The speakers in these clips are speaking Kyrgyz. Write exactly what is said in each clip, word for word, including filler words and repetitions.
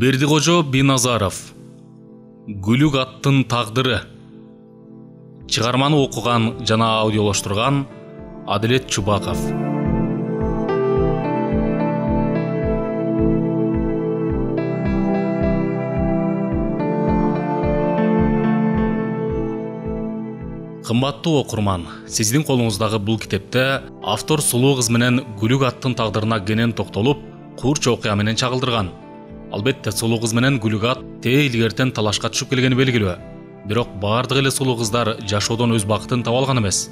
Бердикожо Биназаров Гүлүк аттын тагдыры. Чыгарманы окуган жана аудиолоштурган Адилет Чубаков. Кымбаттуу окурман, сиздин колуңуздагы бул китепте автор сулуу кыз менен Гүлүк аттын тагдырына кенен токтолуп, курч окуя менен чагылдырган. Албетте, сулуу кыз менен Гүлүк ат тээ илгертен талашка түшүп келгени белгилүү. Бирок бардык эле сулуу кыздар жашоодон өз бакытын таба алган эмес.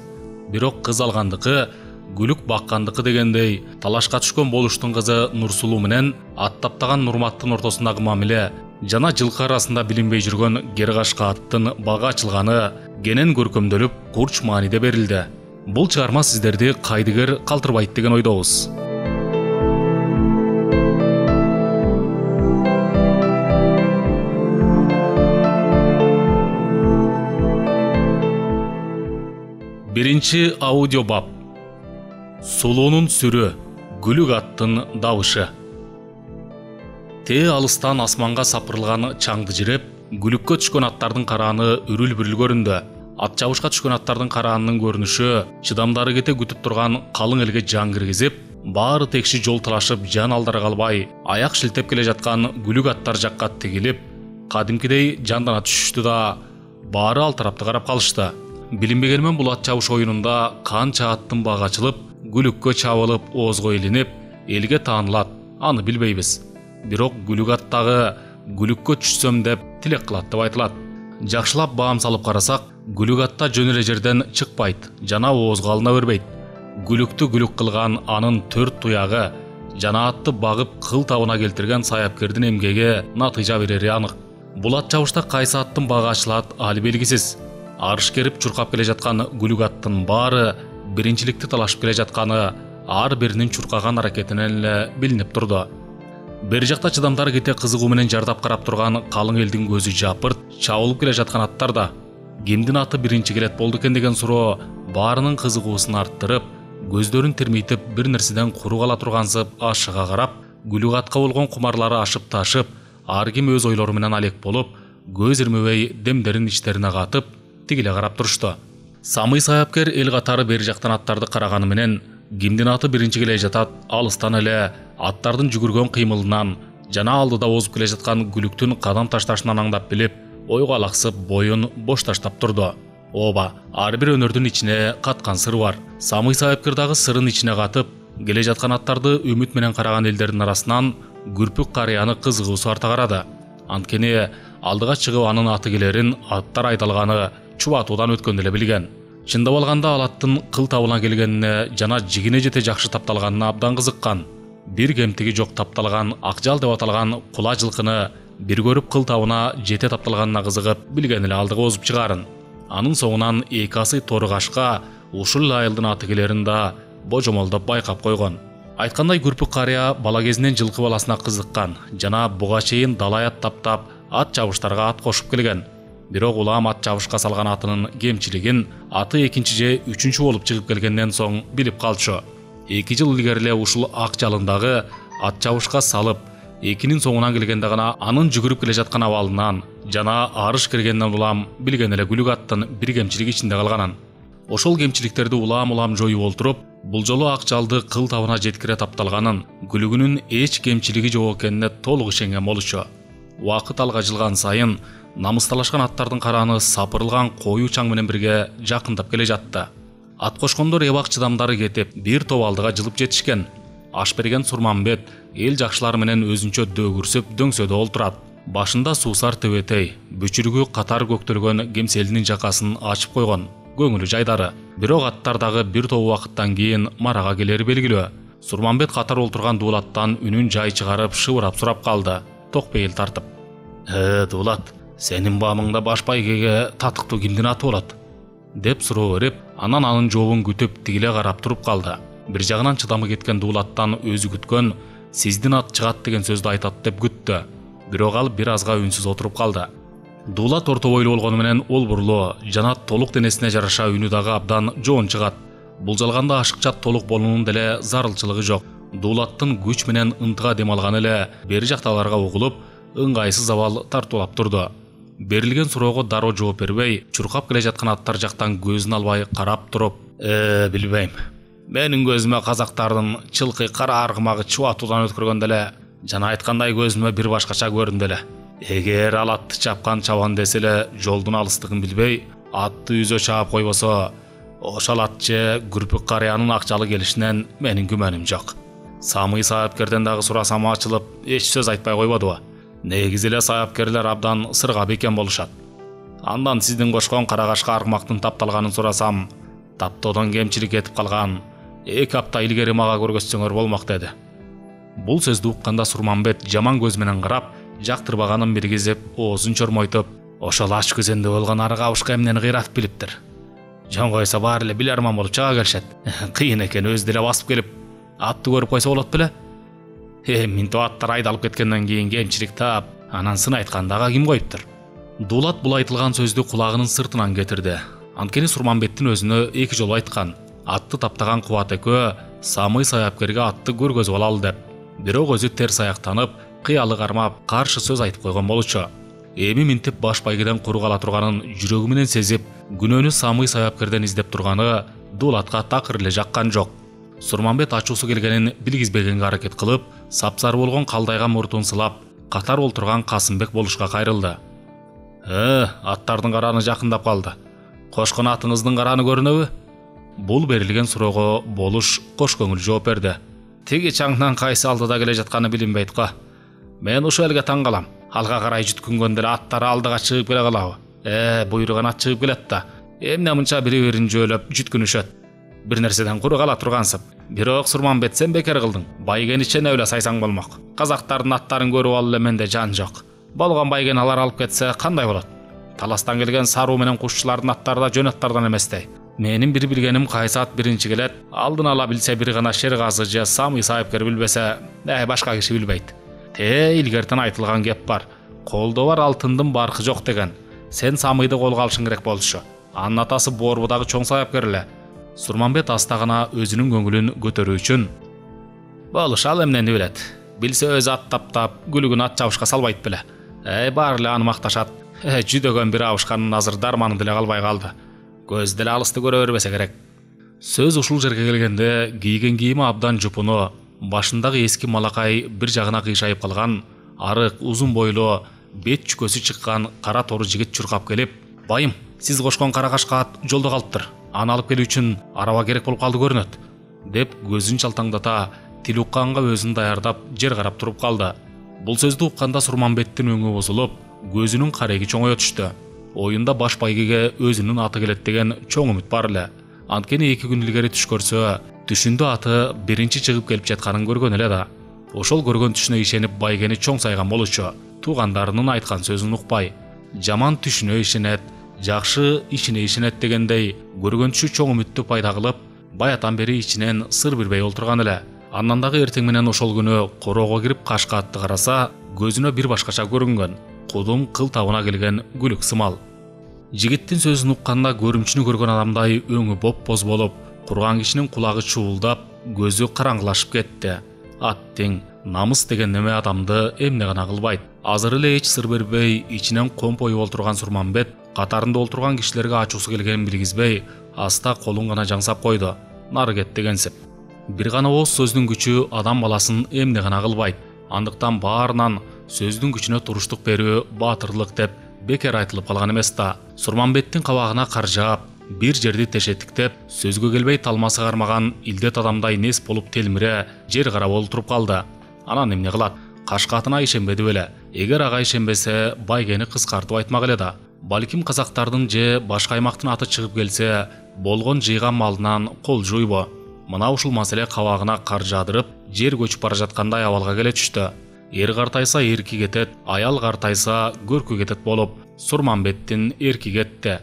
Бирок кыз алгандыкы, Гүлүк баккандыкы дегендей, талашка түшкөн болуштун кызы Нурсулуу менен ат таптаган Нурматтын ортосундагы мамиле жана жылкы арасында билинбей жүргөн Геркашка аттын бага ачылганы кенен көркөмдөлүп, курч мааниде берилди. Бул чыгарма сиздерди кайдыгер калтырбайт деген ойдобуз. Биринчи аудиобап. Сулуунун сүрү, Гүлүк аттын дабышы. Тээ алыстан асманга сапырылган чаңды жиреп, Гүлүккө түшкөн аттардын карааны үрүл-бүрүл көрүндү. Ат чабышка түшкөн аттардын караанын көрүнүшү чыдамдары кете күтүп турган калың элге жан киргизип, баары текши жол талашып, жан алдара калбай, аяк шилтеп келе жаткан Гүлүк аттар жакка тигилип, кадимкидей жандана түшүштү да, баары алтарапты карап калышты. Билинбегенмен бул ат чабыш оюнунда канча аттын бага ачылып, Гүлүккө чабылып, оозго илинип, элге таанылат, аны билбейбиз. Бирок Гүлүк аттагы Гүлүккө түшсөм деп тилек кылат деп айтылат. Жакшылап баам салып карасак, Гүлүк атта жөн эле жерден чыкпайт жана оозго алына бербейт. Гүлүктү Гүлүк кылган анын төрт туягы жана атты багып кыл табына келтирген саяпкердин эмгеги натыйжа берери анык. Бул ат чабышта кайсы аттын бага ачылат али белгисиз. Арыш керип чуркап келе жаткан Гүлүк аттын баары биринчиликти талашып келе жатканы ар биринин чуркаган аракетинен эле билинип турду. Бери жакта чыдамдары кете кызыгуу менен жардап карап турган калың элдин көзү жапырт чабылып келе жаткан аттар да кимдин аты биринчи келет болду экен деген суроо баарынын кызыгуусун арттырып, көздөрүн термейтип бир нерседен куру кала тургансып ашыга карап, Гүлүк атка болгон кумарлары ашып ташып, ар ким өз ойлору менен алек болуп, көз ирмебей демдерин ичтерине катып, тигиле карап турушту. Самый саяпкер эл катары бери жактан аттарды караганы менен кимдин аты биринчи келе жатат алыстан эле аттардын жүгүргөн кыймылынан жана алдыда озуп келе жаткан Гүлүктүн кадам ташташынан аңдап билип, ойго алаксып боюн бош таштап турду. Ооба, ар бир өнөрдүн ичине каткан сыр бар. Самый саяпкер дагы сырын ичине катып, келе жаткан аттарды үмүт менен караган элдердин арасынан Күрпүк карыяны кызыгуусу арта карады. Анткени алдыга чыгып анын аты келерин аттар айдалганы чубатуудан өткөндө эле билген. Чындап алганда ал аттын кыл табына келгенине жана жигине жете жакшы тапталганына абдан кызыккан. Бир кемтиги жок тапталган акжал деп аталган кула жылкыны бир көрүп кыл табына жете тапталганына кызыгып билген эле алдыга озуп чыгарын. Анын соңунан эки асый торыгашка ушул айылдын аты келерин да божомолдоп байкап койгон. Айткандай, Күрпүк карыя бала кезинен жылкы баласына кызыккан жана буга чейин далай ат таптап, ат чабыштарга ат кошуп келген. Бирок улам ат чабышка салган атынын кемчилигин аты экинчи же үчүнчү болуп чыгып келгенден соң билип калчу. Эки жыл илгери эле ушул ак жалындагы ат чабышка салып, экинин соңунан келгенде гана анын жүгүрүп келе жаткан абалынан жана арыш кергенден улам билген эле Гүлүк аттын бир кемчилиги ичинде калганын. Ошол кемчиликтерди улам-улам жоюп олтуруп, бул жолу ак жалды кыл табына жеткире тапталганын, Гүлүгүнүн эч кемчилиги жок экенине толук ишенген болчу. Убакыт алга жылган сайын намысталашкан аттардын карааны сапырылган коюу чаң менен бирге жакындап келе жатты. Ат кошкондор эбак чыдамдары кетип, бир топ алдыга жылып жетишкен. Аш берген Сурмамбет эл жакшылары менен өзүнчө дөгүрсүп дөңсөдө олтурат. Башында суусар тебетей, бүчүрүгү катар көктөлгөн кемселинин жакасын ачып койгон, көңүлү жайдары. Бирок аттар дагы бир топ убакыттан кийин марага келери белгилүү. Сурмамбет катар олтурган дуулаттан үнүн жай чыгарып шыбырап сурап калды, токпейил тартып. «Э, дуулат, сенин баамыңда баш байгеге татыктуу кимдин аты болот?» деп суроо берип, анан анын жообун күтүп тигиле карап туруп калды. Бир жагынан чыдамы кеткен дуулаттан өзү күткөн «сиздин ат чыгат» деген сөздү айтат деп күттү. Бирок ал бир азга үнсүз отуруп калды. Дуулат орто бойлуу болгону менен олбурлуу жана толук денесине жараша үнү дагы абдан жоон чыгат. Булжалганда ашыкча толук болуунун деле зарылчылыгы жок. Дуулаттын күч менен ынтыга дем алганы эле бери жактагыларга угулуп, ыңгайсыз абал тартуулап турду. Берилген суроого дароо жооп бербей, чуркап келе жаткан аттар жактан көзүн албай карап туруп, «Э, билбейм. Менин көзүмө казактардын чылкы кара аргымагы чубатуудан өткөргөндө эле, жана айткандай көзүмө бир башкача көрүндү эле. Эгер ал атты чапкан чабан десе эле жолдун алыстыгын билбей, атты үзө чаап койбосо, ошол ат же күрпүк карыянын акчалы келишинен менин күмөнүм жок. Самый саапкерден дагы сурасам ачылып, эч сөз айтпай койбодубу? Негизи эле саапкерлер абдан сырга бекен болушат. Андан сиздин кошкон карагашка аргымактын тапталганын сурасам, таптоодон кемчилик этип калган, эки апта илгери мага көргөзсөңөр болмок деди. Бул сөздү укканда Сурманбет жаман көз менен карап, жактырбаганын биргизип, оозун чормойтуп, ошол ач күзөндө болгон арык абышка эмнени кыйратып билиптир. Жон койсо баары эле биларман болуп чыга келишет. Кыйын экен өзү деле басып келип, атты көрүп койсо болот беле? Э, минтип аттар айдалып кеткенден кийин кемчилик таап, анан сын айткандага ким коюптур? Дулат бул айтылган сөздү кулагынын сыртынан кетирди. Анткени Сурманбеттин өзүнө эки жолу айткан, атты таптаган Кубат экөө Самый саапкерге атты көргөзүп алалы деп. Бирок өзү терс аяктанып, кыялы кармап, каршы сөз айтып койгон болчу. Эми минтип баш байгеден куру кала турганын жүрөгү менен сезип, күнөөнү Самый саапкерден издеп турганы Дулатка такыр эле жаккан жок. Сурманбет ачуусу келгенин билгизбегенге аракет кылып, сапсары болгон калдайган муртун сылап, катар олтурган Касымбек болушка кайрылды. «Э, аттардын караны жакындап калды. Кошкон атыңыздын караны көрүнөбү?» Бул берилген суроого Болуш кош көңүл жооп берди. «Тиги чаңдан кайсы алдыда келе жатканы билинбейт го. Мен ушул элге таң калам. Алга карай жүткүнгөндө эле аттар алдыга чыгып келе калабы? Э, буйруган ат чыгып келет да. Эмне мынча бири-бирин жөөлөп жүткүнүшөт? Бир нерседен куру кала тургансып. Бирок Сурманбет сен бекер кылдың. Байгени чене эле сайсаң болмок. Казактардын аттарын көрүп алып эле менде жан жок. Болгон байген алар алып кетсе кандай болот? Таластан келген саруу менен кушчулардын аттары да жөн аттардан эместей. Менин бир билгеним кайсы ат биринчи келет, алдын ала билсе бир гана Шергазы же Самый саапкер билбесе, э, башка киши билбейт. Те илгертен айтылган кеп бар. Колдо бар алтындын баркы жок деген. Сен Самыйды колго алышың керек болчу. Анын атасы Борбудагы чоң саапкер эле. Сурманбет аста гана өзүнүн көңүлүн көтөрүү үчүн: «Болуш ал эмнени билет? Билсе өзү ат таптап, күлүгүн ат чабышка салбайт беле? Эй, баары эле аны макташат. Э, жүдөгөн бир абышканын азыр дарманы деле калбай калды. Көз деле алысты көрө бербесе керек». Сөз ушул жерге келгенде кийген кийими абдан жупуну, башындагы эски малакай бир жагына кыйшайып калган, арык, узун бойлуу, бет чүкөсү чыккан кара тору жигит чуркап келип: «Байым, сиз кошкон карагашка ат жолдо калыптыр. Аны алып келүү үчүн араба керек болуп калды көрүнөт», деп көзүн чалтаңдата, тил укканга өзүн даярдап жер карап туруп калды. Бул сөздү укканда Сурманбеттин өңү бузулуп, көзүнүн кареги чоңое түштү. Оюнда баш байгеге өзүнүн аты келет деген чоң үмүт бар эле. Анткени эки күн илгери түш көрсө, түшүндө аты биринчи чыгып келип жатканын көргөн эле да. Ошол көргөн түшүнө ишенип байгени чоң сайган болчу. Туугандарынын айткан сөзүн укпай, жаман түшүнө ишенет, жакшы ишине ишенет дегендей, көргөн түшү чоң үмүттү пайда кылып, баятан бери ичинен сыр билбей олтурган эле. Андан дагы эртең менен ошол күнү короого кирип кашка атты караса, көзүнө бир башкача көрүнгөн. Кудум кыл табына келген күлүк сымал. Жигиттин сөзүн укканда көрүмчүнү көргөн адамдай өңү боп-боз болуп, курган кишинин кулагы чуулдап, көзү караңгылашып кетти. Аттың намыс деген неме адамды эмне гана кылбайт. Азыр эле эч сыр бербей, ичинен компоюп олтурган Сурманбет катарында олтурган кишилерге ачуусу келгенин билгизбей, аста колун гана жаңсап койду. Нары кет дегенсип. Бир гана ооз сөздүн күчү адам баласын эмне гана кылбайт. Андыктан баарынан сөздүн күчүнө туруштук берүү баатырлык деп бекер айтылып калган эмес да. Сурманбеттин кабагына каржаап, бир жерди тешеттиктеп, сөзгө келбей талмасы кармаган илдет адамдай нес болуп телмире жер карап олтуруп калды. Анан эмне кылат? Кашкатына ишенбеди беле. Эгер ага ишенбесе, байгени кыскартып айтмак эле да. Балким казактардын же башка аймактын аты чыгып келсе, болгон жыйган малынан кол жуйбу. Мына ушул маселе кабагына кар жаадырып, жер көчүп бара жаткандай абалга келе түштү. Эр картайса эрки кетет, аял картайса көркү кетет болуп, Сурманбеттин эрки кетти.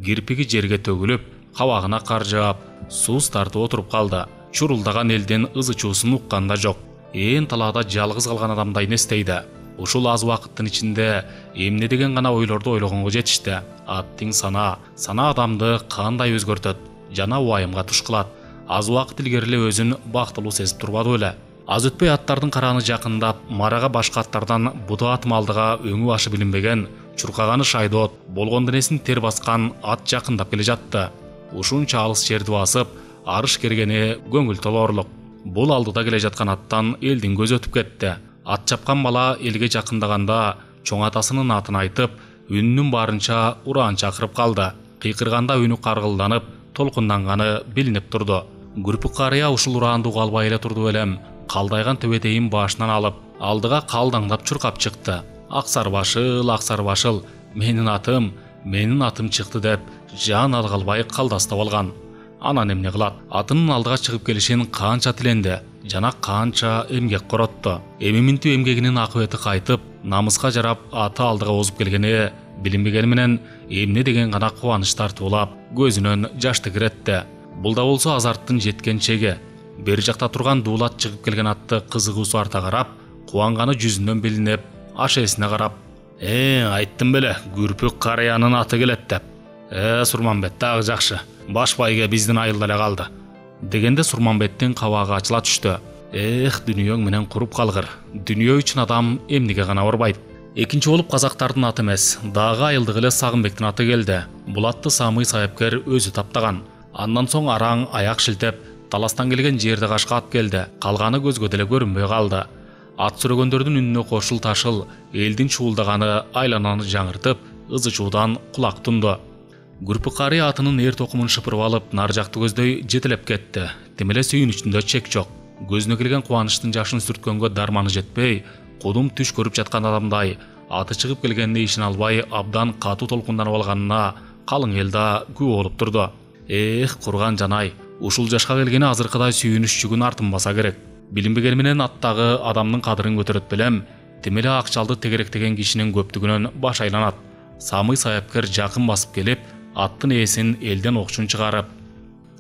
Кирпиги жерге төгүлүп, кабагына кар жаап, сууз тартып отуруп калды. Чурулдаган элдин ызы чуусун укканда жок. Ээн талаада жалгыз калган адамдай нестейди. Ушул аз убакыттын ичинде эмне деген гана ойлорду ойлогонго жетишти. Аттың сана, сана адамды кандай өзгөртөт, жана уайымга туш кылат. Аз убакыт илгери эле өзүн бактылуу сезип турбады беле. Аз өтпөй аттардын карааны жакындап, марага башка аттардан буда атым алдыга өңү башы билинбеген, чуркаганы шайдоот, болгон денесин тер баскан ат жакындап келе жатты. Ушунча алыс жерди басып, арыш кергени көңүл толоорлук. Бул алдыда келе жаткан аттан элдин көзү өтүп кетти. Ат чапкан бала элге жакындаганда чоң атасынын атын айтып, үнүнүн барынча ураан чакырып калды. Кыйкырганда үнү каргылданып, толкунданганы билинип турду. Күрпүк карыя ушул ураанды уга албай эле турду белем. Калдайган төбөтейин башынан алып, алдыга калдаңдап чуркап чыкты. Аксар башыл, аксар башыл, менин атым, менин атым чыкты деп, жан алгалбай калдастап алган. Анан эмне кылат? Атынын алдыга чыгып келишин канча тиленди, жана канча эмгек коротту. Эми минтип эмгегинин акыбети кайтып, намыска жарап аты алдыга озуп келгени билинбегени менен эмне деген гана кубаныч тартуулап, көзүнөн жаш тигиретти. Бул да болсо азарттын жеткен чеги. Бери жакта турган дуулат чыгып келген атты кызыгуусу арта карап, кубанганы жүзүнөн билинип, аш эсине карап: "Э, айттым беле, Күрпүк карыянын аты келет" деп. "Э, Сурманбет дагы жакшы. Баш байге биздин айылда эле калды" дегенде Сурманбеттин кабагы ачыла түштү. Эх, дүйнөң менен куруп калгыр. Дүйнө үчүн адам эмнеге гана барбайт. Экинчи болуп казактардын аты эмес, дагы айылдык эле Сагынбектин аты келди. Бул атты Самый сайыпкер өзү таптаган. Андан соң араң аяк шилтеп, таластан келген жерде кашка ат келди. Калганы көзгө деле көрүнбөй калды. Ат сүрөгөндөрдүн үнүнө кошул ташыл, элдин чуулдаганы айлананы жаңыртып, ызы чуудан кулак тунду. Күрпүк карыя атынын эр токумун шыпырып алып, нар жакты көздөй жетелеп кетти. Тим эле сүйүнүчүндө чек жок. Көзүнө келген кубанычтын жашын сүрткөнгө дарманы жетпей, кудум түш көрүп жаткан адамдай, аты чыгып келгенине ишине албай, абдан катуу толкунданып алганына калың эл да күбө болуп турду. Эх, курган жанай, ушул жашка келгени азыркыдай сүйүнүч жүгүн артынбаса керек. Билинбегени менен аттагы адамдын кадырын көтөрөт белем. Тим эле акчалды тегеректеген кишинин көптүгүнөн баш айланат. Самый сайыпкер жакын басып келип, аттын ээсин элден окчун чыгарып: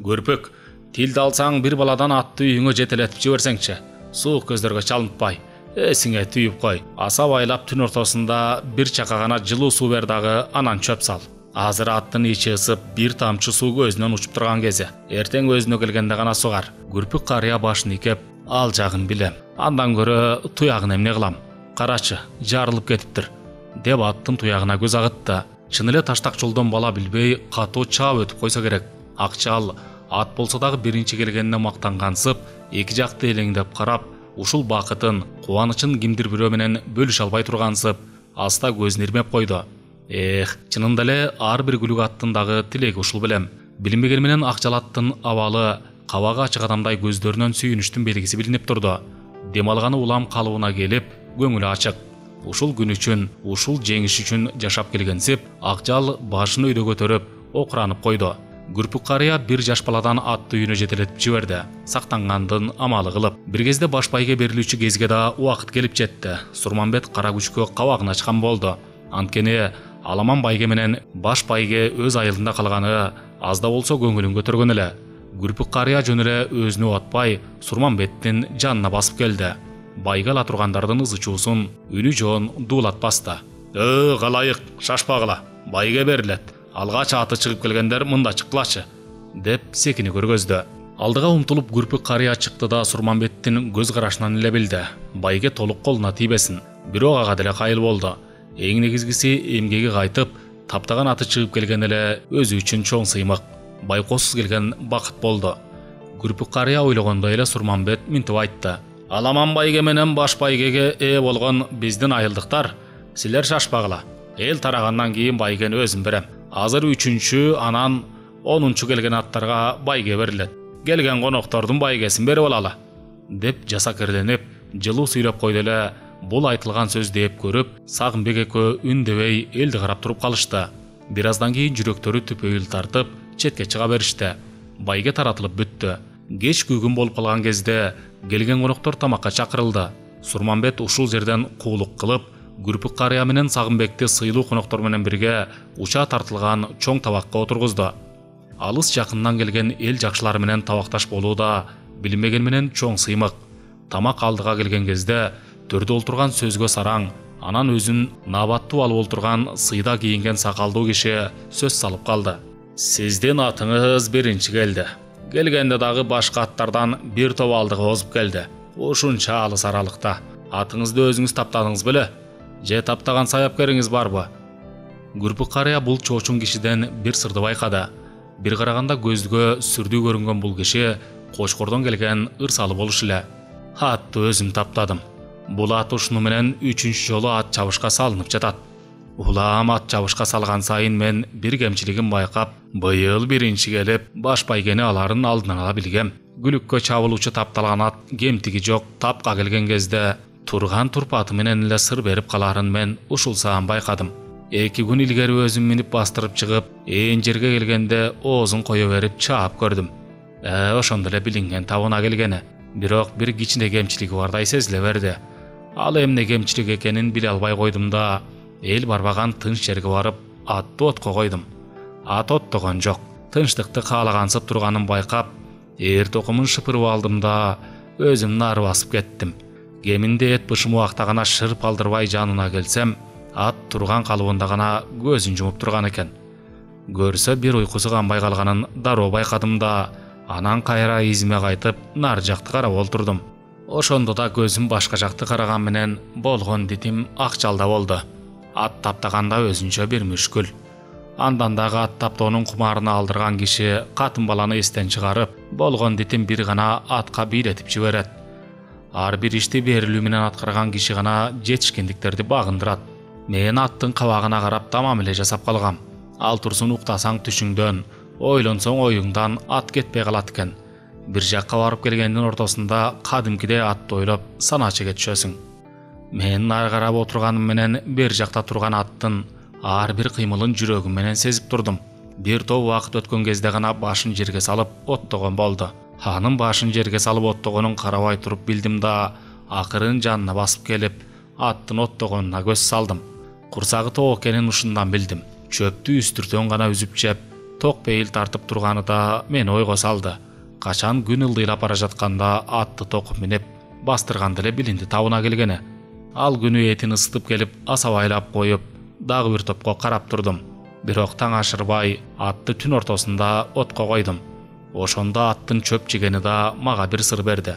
"Көрпөк, тилди алсаң бир баладан атты үйүңө жетелетип жиберсеңчи. Суук көздөргө чалынтпай, эсиңе түйүп кой. Аса байлап түн ортосунда бир чака гана жылуу суу бер дагы, анан чөп сал. Азыр аттын ичи ысып, бир тамчы суу көзүнөн учуп турган кези. Эртең өзүнө келгенде гана сугар." Күрпүк карыя башын ийкеп: "Ал жагын билем. Андан көрө туягын эмне кылам? Карачы, жарылып кетиптир" деп аттын туягына көз агытты. Чын эле таштак жолдон бала билбей катуу чаап өтүп койсо керек. Акчал ат болсо дагы биринчи келгенине мактангансып, эки жакты элеңдеп карап, ушул бакытын, кубанычын кимдир бирөө менен бөлүшө албай тургансып, аста көзүн ирмеп койду. Эх, чынында эле ар бир күлүк аттын дагы тилеги ушул белем. Билинбегени менен акчал аттын абалы, кабагы ачык адамдай көздөрүнөн сүйүнүчтүн белгиси билинип турду. Дем алганы улам калыбына келип, көңүлү ачык. Ушул күн үчүн, ушул жеңиш үчүн жашап келгенсип, акчал башын өйдө көтөрүп, окуранып койду. Күрпүк карыя бир жаш баладан атты үйүнө жетелетип жиберди, сактангандын амалы кылып. Бир кезде баш байге берилүүчү кезге да убакыт келип жетти. Сурманбет кара күчкө кабагын ачкан болду. Анткени Аламан байге менен баш байге өз айылында калганы аз да болсо көңүлүн көтөргөн эле. Күрпүк карыя жөн эле өзүнө атпай, Сурманбеттин жанына басып келди. Байга ала тургандардын ызы чуусун үнү жоон дуулат басты. "Э, калайык, шашпагыла. Байге берилет. Алгач аты чыгып келгендер мында чыккылачы" деп секини көргөздү. Алдыга умтулуп Күрпүк карыя чыкты да Сурманбеттин көз карашынан эле билди. Байге толук колуна тийбесин. Бирок ага деле кайыл болду. Эң негизгиси эмгеги кайтып, таптаган аты чыгып келген эле өзү үчүн чоң сыймык. Байкосуз келген бакыт болду. Күрпүк карыя ойлогондой эле Сурманбет минтип айтты: "Аламан байге менен баш байгеге ээ болгон биздин айылдыктар, силер шашпагыла. Эл тарагандан кийин байгени өзүм берем. Азыр үчүнчү, анан онунчу келген аттарга байге берилет. Келген коноктордун байгесин берип алалы" деп жасакерленип, жылуу сүйлөп койду эле. Бул айтылган сөз деп көрүп, Сагынбек экөө үндебей элди карап туруп калышты. Бир аздан кийин жүрөктөрү түпөйүл тартып, четке чыга беришти. Байге таратылып бүттү. Кеч күгүн болуп калган кезде келген коноктор тамакка чакырылды. Сурманбет ушул жерден куулук кылып, Күрпүк карыя менен Сагынбекти сыйлуу коноктор менен бирге уча тартылган чоң табакка отургузду. Алыс жакындан келген эл жакшылары менен табакташ болуу да билинбеген менен чоң сыймык. Тамак алдыга келген кезде төрдө олтурган сөзгө сараң, анан өзүн набаттуу алып олтурган сыйда кийинген сакалдуу киши сөз салып калды. "Сиздин атыңыз биринчи келди. Келгенде дагы башка аттардан бир топ алдыга озуп келди. ушунча алыс аралыкта. Атыңызды өзүңүз таптадыңыз беле? Же таптаган саяпкериңиз барбы? Күрпүк карыя бул чоочун кишиден бир сырды байкады. Бир караганда көзгө сүрдүү көрүнгөн бул киши Кочкордон келген ырсалы болуш эле. Атты өзүм таптадым. Бул ат ушуну менен үчүнчү жолу ат чабышка салынып жатат. Улам ат чабышка салган сайын мен бир кемчилигин байкап, быйыл биринчи келип, баш байгени аларын алдын ала билгем. Күлүккө чабылуучу тапталган ат кемтиги жок тапка келген кезде турган турпаты менен эле сыр берип каларын мен ушулсаам байкадым. Эки күн илгери өзүм минип бастырып чыгып, ээн жерге келгенде оозун кое берип чаап көрдүм. Э, ошондо эле билинген табына келгени. Бирок бир кичине кемчилиги бардай сезиле берди. Ал эмне кемчилик экенин биле албай койдум да, эл барбаган тынч жерге барып, атты отко койдум. Ат оттогон жок. Тынчтыкты каалагансып турганын байкап, эр токумун шыпырып алдым да, өзүм нары басып кеттим. Кеминде эт бышым убакта гана шырп алдырбай жанына келсем, ат турган калыбында гана көзүн жумуп турган экен. Көрсө бир уйкусу канбай калганын дароо байкадым да, анан кайра изиме кайтып, нар жакты карап олтурдум. Ошондо да көзүм башка жакты караган менен болгон дитим ак жалда болду. Ат таптаганда өзүнчө бир мүшкүл. Андан дагы ат таптоонун кумарына алдырган киши катын баланы эстен чыгарып, болгон дитим бир гана атка бийлетип жиберет. Ар бир ишти берилүү менен аткарган киши гана жетишкендиктерди багындырат. Мен аттын кабагына карап тамам эле жасап калгам. Ал турсун уктасаң түшүңдөн, ойлонсоң оюңдан ат кетпей калат экен. Бир жакка барып келгендин ортосунда кадимкиде атты ойлоп сана чеге түшөсүң. Мен нары карап отурганым менен бер жакта турган аттын ар бир кыймылын жүрөгүм менен сезип турдум. Бир топ убакыт өткөн кезде гана башын жерге салып оттогон болду. Анын башын жерге салып оттогонун карабай туруп билдим да, акырын жанына басып келип, аттын оттогонуна көз салдым. Курсагы ток экенин ушундан билдим. Чөптү үстүртөн гана үзүп жеп, ток пейил тартып турганы да мени ойго салды. Качан күн ылдыйлап бара жатканда атты токуп минип, бастырганда эле билинди табына келгени. Ал күнү этин ысытып келип, асабайлап коюп, дагы бир топко карап турдум. Бирок таң ашырбай, атты түн ортосунда отко койдум. Ошондо аттын чөп жегени да мага бир сыр берди.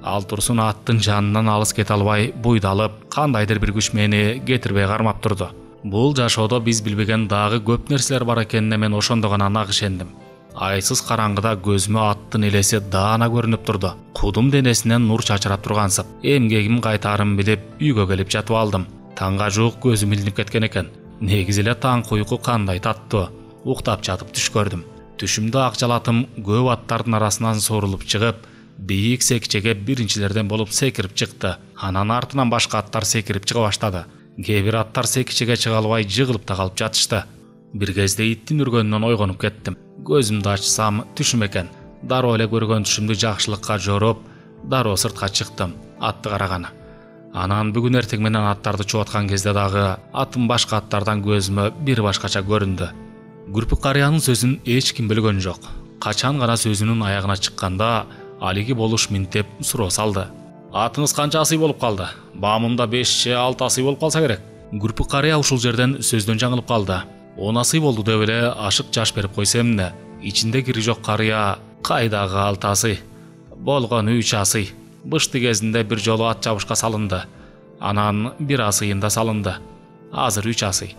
Ал турсун аттын жанынан алыс кете албай, буйдалып, кандайдыр бир күч мени кетирбей кармап турду. Бул жашоодо биз билбеген дагы көп нерселер бар экенине мен ошондо гана нак ишендим. Айсыз караңгыда көзүмө аттын элеси даана көрүнүп турду. Кудум денесинен нур чачырап тургансып, эмгегим кайтаарын билип, үйгө келип жатып алдым. Таңга жуук көзүм илинип кеткен экен. Негизи эле таңкы уйку кандай таттуу. Уктап жатып түш көрдүм. Түшүмдө ак жалатым көп аттардын арасынан сорулуп чыгып, бийик секчеге биринчилерден болуп секирип чыкты. Анан артынан башка аттар секирип чыга баштады. Кээ бир аттар секичеге чыга албай жыгылып та калып жатышты. Бир кезде иттин үргөнүнөн ойгонуп кеттим. Көзүмдү ачсам түшүм экен. Дароо эле көргөн түшүмдү жакшылыкка жоруп, дароо сыртка чыктым, атты караганы. Анан бүгүн эртең менен аттарды чооткан кезде дагы атым башка аттардан көзүмө бир башкача көрүндү. Күрпүк карыянын сөзүн эч ким бөлгөн жок. Качан гана сөзүнүн аягына чыкканда, алиги болуш минтеп суроо салды. Атыңыз канча асый болуп калды? Баамымда беш же алты асый болуп калса керек. Күрпүк карыя ушул жерден сөздөн жаңылып калды. он асый болду деп эле ашык жаш берип койсо эмне? Ичинде кири жок карыя кайдагы алты асый? Болгону үч асый. Бышты кезинде бир жолу ат чабышка салынды. Анан бир асыйында салынды. Азыр үч асый.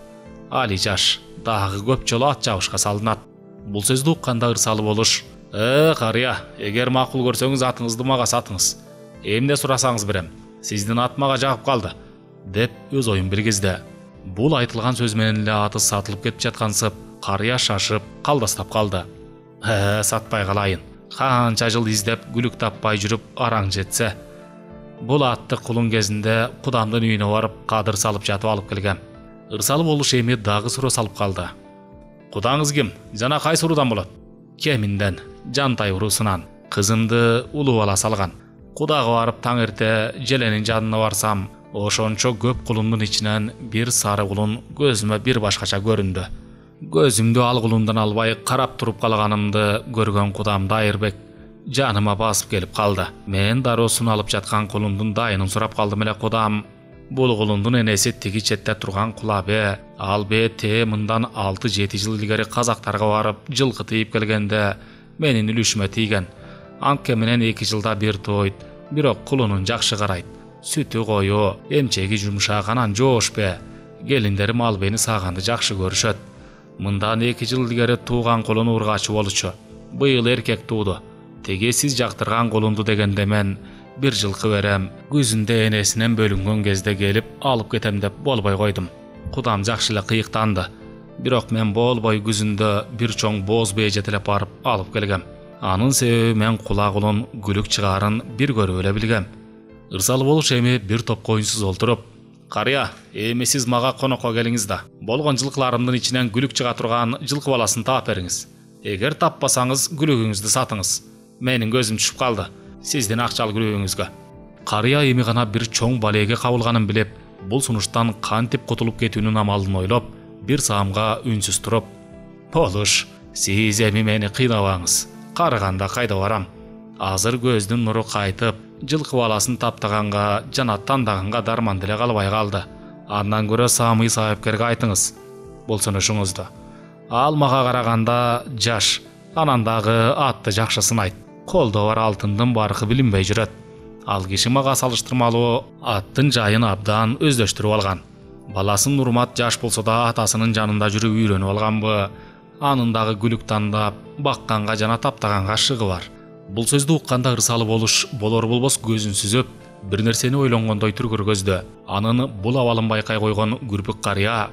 Али жаш, дагы көп жолу ат чабышка салынат. Бул сөздү укканда ырсалы болуш: "Э, карыя, эгер макул көрсөңүз атыңызды мага сатыңыз. Эмне сурасаңыз берем. Сиздин ат мага жагып калды", деп өз оюн билгизди. Бул айтылган сөз менен эле аты сатылып кетип жаткансып, карыя шашып, калдастап калды. "Э, сатпай калайын. Канча жыл издеп, күлүк таппай жүрүп, араң жетсе. Бул атты кулун кезинде кудамдын үйүнө барып, кадыр салып жатып алып келгем." Ырсалы болуш эми дагы суроо салып калды. "Кудаңыз ким? Жана кайсы уруудан болот?" "Кеминден, Жантай уруусунан. Кызымды улуу бала салган. Кудага барып таң эрте желенин жанына барсам, ошончо көп кулундун ичинен бир сары кулун көзүмө бир башкача көрүндү. Көзүмдү ал кулундан албай карап туруп калганымды көргөн кудам Дайырбек жаныма басып келип калды. Мен дароо суналып жаткан кулундун дайынын сурап калдым эле. Кудам: "Бул кулундун энеси тиги четте турган кулабе, ал бе те мындан алты жети жыл илгери казактарга барып жылкы тийип келгенде менин үлүшүмө тийген. Анткени менен эки жылда бир тойт, бирок кулунун жакшы карайт. Сүтү кою, эмчеги жумшак, анан жоошпе. Келиндерим ал мени саганды жакшы көрүшөт. Мындан эки жыл илгери тууган кулун ургачы болчу. Быйыл эркек тууду. Теге сиз жактырган кулунду дегенде мен бир жылкы берем. Күзүндө энесинен бөлүнгөн кезде келип алып кетем деп болбой койдум. Кудам жакшы эле кыйыктанды. Бирок мен болбой күзүндө бир чоң боз бээ жетелеп барып алып келгем. Анын себеби мен кула кулун күлүк чыгарын бир көрүп эле билгем. Ырсалы болуш эми бир топ коюнсуз олтуруп: "Карыя, эми сиз мага конокко келиңиз да, болгон жылкыларымдын ичинен күлүк чыга турган жылкы баласын таап бериңиз. Эгер таппасаңыз, күлүгүңүздү сатыңыз. Менин көзүм түшүп калды сиздин акчалуу күлүгүңүзгө." Карыя эми гана бир чоң балеге кабылганын билип, бул сунуштан кантип кутулуп кетүүнүн амалын ойлоп, бир саамга үнсүз туруп: "Болуш, сиз эми мени кыйнабаңыз. Карыганда кайда барам? Азыр көздүн нуру кайтып, жылкы баласын таптаганга жана тандаганга дарман деле калбай калды. Андан көрө Самый сайыпкерге айтыңыз бул сунушуңузду. Ал мага караганда жаш, анан дагы атты жакшы сынайт. Колдо бар алтындын баркы билинбей жүрөт. Ал киши мага салыштырмалуу аттын жайын абдан өздөштүрүп алган. Баласын урмат жаш болсо да атасынын жанында жүрүп үйрөнүп алганбы? Анын дагы күлүк тандап, бакканга жана таптаганга шыгы бар." Бул сөздү укканда ырсалы болуш болор болбос көзүн сүзүп, бир нерсени ойлонгондой түргөр көздө. Анын бул абалын байкай койгон күрпүк карыя: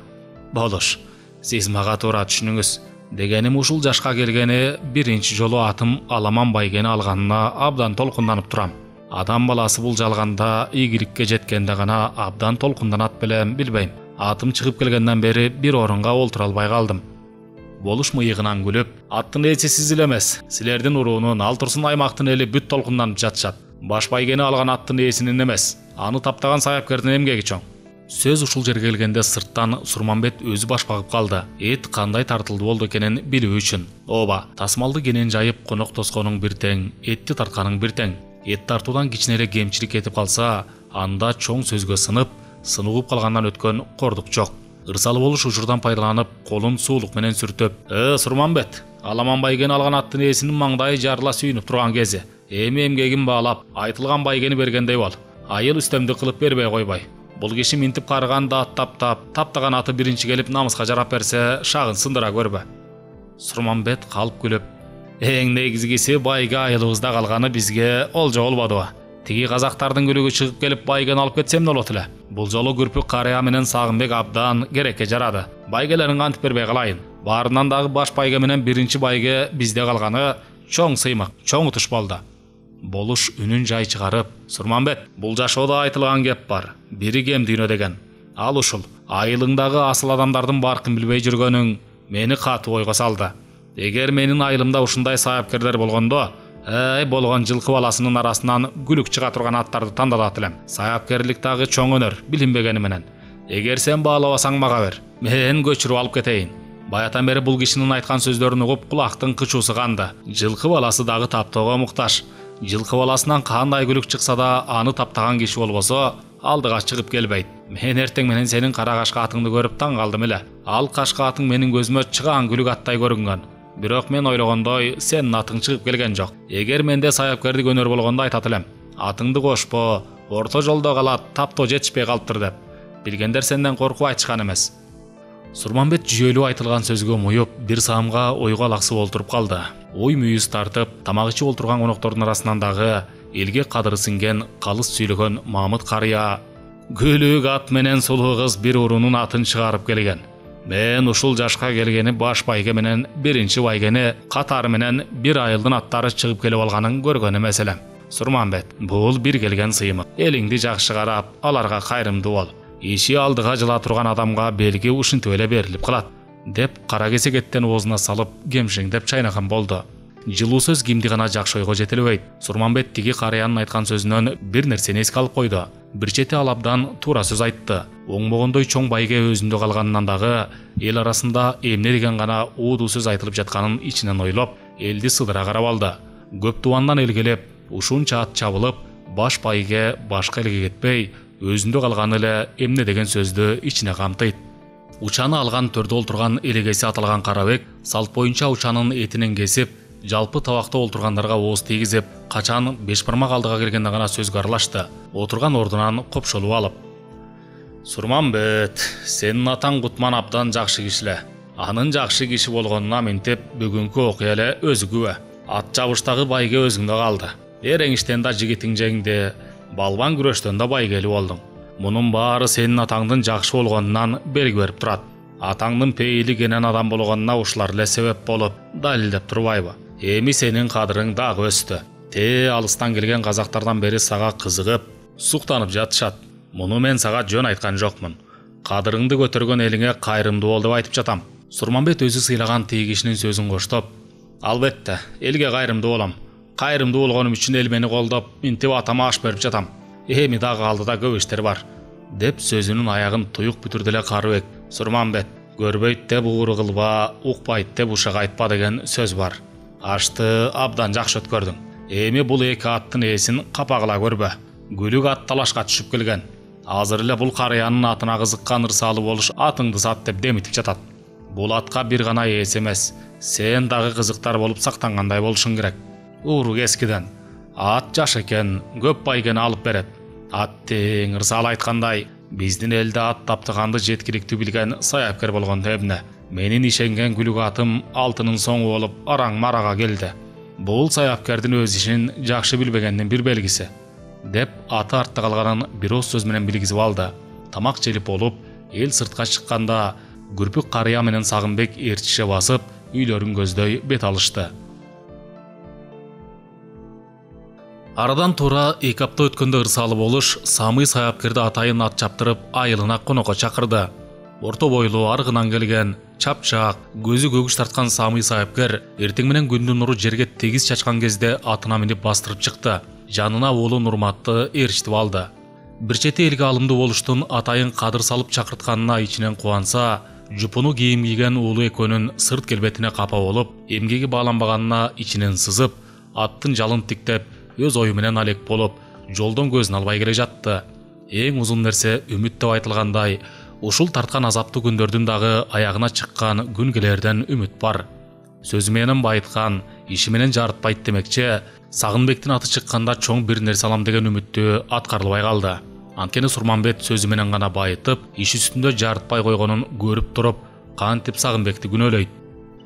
"Болуш, сиз мага туура түшүнүңүз. Дегеним ушул жашка келгени биринчи жолу атым Аламан байгени алганына абдан толкунданып турам. Адам баласы бул жалганда ийгиликке жеткенде гана абдан толкунданат белем, билбейм. Атым чыгып келгенден бери бир орунга олтура албай калдым." Болуш мыйыгынан күлүп: "Аттын ээси сиз эле эмес, силердин уруунун ал турсун аймактын эли бүт толкунданып жатышат. Баш байгени алган аттын ээсинин эмес, аны таптаган сайыпкердин эмгеги чоң." Сөз ушул жерге келгенде сырттан Сурманбет өзү баш багып калды. Эт кандай тартылды болду экенин билүү үчүн. Ооба, тасмалды кенен жайып конок тосконуң бир тең, этти тартканың бир тең. Эт тартуудан кичине эле кемчилик кетип калса, анда чоң сөзгө сынып, сыныгып калгандан өткөн кордук жок. Ырсалы болуш учурдан пайдаланып, колун суулук менен сүртөп: "Э, Сурманбет, Аламан байгени алган аттын ээсинин маңдайы жарыла сүйүнүп турган кези. Эми эмгегин баалап, айтылган байгени бергендей бол. Айыл үстөмдүк кылып бербей койбой. Бул киши минтип карыганда ат таптап, таптаган аты биринчи келип намыска жарап берсе, шагын сындыра көрбө." Сурманбет калып күлүп: "Эң негизгиси байге айылыбызда калганы бизге олжо болбодубу? Тиги казактардын күлүгү чыгып келип байгени алып кетсе эмне болот эле? Бул жолу күрпүк карыя менен Сагынбек абдан керекке жарады. Байгелерин кантип бербей калайын? Баарынан дагы баш байге менен биринчи байге бизде калганы чоң сыймак, чоң утуш болду." Болуш үнүн жай чыгарып: "Сурманбет, бул жашоодо айтылган кеп бар. Бири кем дүйнө деген. Ал ушул. Айылыңдагы асыл адамдардын баркын билбей жүргөнүң мени катуу ойго салды. Эгер менин айылымда ушундай сайыпкерлер болгондо, эй, болгон жылкы баласынын арасынан күлүк чыга турган аттарды тандалат элем. Сайыпкерлик дагы чоң өнөр, билинбегени менен. Эгер сен баалабасаң мага бер. Мен көчүрүп алып кетейин." Баятан бери бул кишинин айткан сөздөрүн угуп кулактын кычуусу канды. Жылкы баласы дагы таптоого муктаж. Жылкы баласынан кандай күлүк чыкса да, аны таптаган киши болбосо, алдыга чыгып келбейт. Мен эртең менен сенин кара кашка атыңды көрүп таң калдым эле. Ал кашка атың менин көзүмө чыгаан күлүк аттай көрүнгөн. Бирок мен ойлогондой сенин атың чыгып келген жок. Эгер менде сайыпкердик өнөр болгондо айтат элем: "Атыңды кошпо, орто жолдо калат, таптоо жетишпей калыптыр" деп. Билгендер сенден коркуп айтышкан эмес." Сурманбет жүйөлүү айтылган сөзгө муюп, бир саамга ойго алаксып олтуруп калды. Ой мүйүз тартып, тамак ичип олтурган коноктордун арасынан дагы элге кадыры сиңген калыс сүйлөгөн Мамыт карыя: "Күлүк ат менен сулуу кыз бир уруунун атын чыгарып келген. Мен ушул жашка келгени баш байге менен биринчи байгени катары менен бир айылдын аттары чыгып келип алганын көргөн эмес элем. Сурманбет, бул бир келген сыймык. Элиңди жакшы карап, аларга кайрымдуу бол. Иши алдыга жыла турган адамга белги ушинтип эле берилип калат" деп кара кесек эттен оозуна салып кемшиңдеп чайнаган болду. Жылуу сөз кимди гана жакшы ойго жетелебейт. Сурманбет тиги карыянын айткан сөзүнөн бир нерсени эске алып койду. Бир чети ал абдан туура сөз айтты. Оңбогондой чоң байге өзүндө калганынан дагы эл арасында эмне деген гана уудуу сөз айтылып жатканын ичинен ойлоп, элди сыдыра карап алды. Көп тубандан элгелеп, ушунча ат чабылып, баш байге башка элге кетпей, өзүндө калганы эле эмне деген сөздү ичине камтыйт. Учаны алган төрдө олтурган элегеси аталган Карабек салт боюнча учанын этинен кесип, жалпы табакта олтургандарга ооз тийгизип, качан беш бармак алдыга келгенде гана сөзгө аралашты, отурган ордунан копшолуп алып. Сурманбет, сенин атаң Кутман абдан жакшы кишиле. Анын жакшы киши болгонуна мынтип бүгүнкү окуя эле өзү күбө. Ат жабыштагы байге өзүңдө калды. Эреңиштен да жигитиң жеңди, балбан күрөштөн да байгелүү болдуң. Мунун баары сенин атаңдын жакшы болгонунан белги берип турат. Атаңдын пейили кенен адам болгонуна ушулар эле себеп болуп далилдеп турбайбы? Эми сенин кадырың дагы өстү. Те алыстан келген казактардан бери сага кызыгып, суктанып жатышат. Муну мен сага жөн айткан жокмун. Кадырыңды көтөргөн элиңе кайрымдуу бол деп айтып жатам. Сурманбет өзү сыйлаган тиги кишинин сөзүн коштоп, албетте, элге кайрымдуу болом. Кайрымдуу болгонум үчүн эл мени колдоп, мынтип атама аш берип жатам. Эми дагы алдыда көп иштер бар, деп сөзүнүн аягын туюк бүтүрдү эле Карыбек. Сурманбет, көрбөйт деп ууру кылба, укпайт деп ушак айтпа деген сөз бар. Ашты абдан жакшы өткөрдүң. Эми бул эки аттын ээсин капагыла көрбө. Күлүк ат талашка түшүп келген. Азыр эле бул карыянын атына кызыккан ырсалы болуш атыңды сат деп демитип жатат. Бул атка бир гана ээс эмес, сен дагы кызыктар болуп сактангандай болушуң керек. Ууру кескиден. Ат жаш экен, көп байгени алып берет. Ат тең ырсалы айткандай, биздин элде ат таптыганды жеткиликтүү билген саяпкер болгон эмне. Менин ишенген күлүк атым алтынын соңу болуп араң марага келди. Бул саяпкердин өз ишин жакшы билбегендин бир белгиси, деп аты артта калганын бир ооз сөз менен билгизип алды. Тамак желип болуп, эл сыртка чыкканда Күрпүк карыя менен Сагынбек ээрчише басып, үйлөрүн көздөй бет алышты. Арадан туура эки апта өткөндө ырсалы болуш Самый саяпкерди атайын ат чаптырып айылына конокко чакырды. Орто бойлуу, аргынан келген, чапчак, көзү көгүш тарткан Самый саяпкер эртең менен күндүн нуру жерге тегиз чачкан кезде атына минип бастырып чыкты. Жанына уулу Нурматты ээрчитип алды. Бир чети элге алымдуу болуштун атайын кадыр салып чакыртканына ичинен кубанса, жупуну кийим кийген уулу экөөнүн сырт келбетине капа болуп, эмгеги бааланбаганына ичинен сызып, аттын жалын тиктеп, өз ою менен алек болуп, жолдон көзүн албай келе жатты. Эң узун нерсе үмүт деп айтылгандай, ушул тарткан азаптуу күндөрдүн дагы аягына чыккан күн келерден үмүт бар. Сөзү менен байыткан, иши менен жарытпайт демекчи, Сагынбектин аты чыкканда чоң бир нерсе алам деген үмүттү аткарылбай калды. Анткени Сурманбет сөзү менен гана байытып, иш үстүндө жарытпай койгонун көрүп туруп, кантип Сагынбекти күнөөлөйт.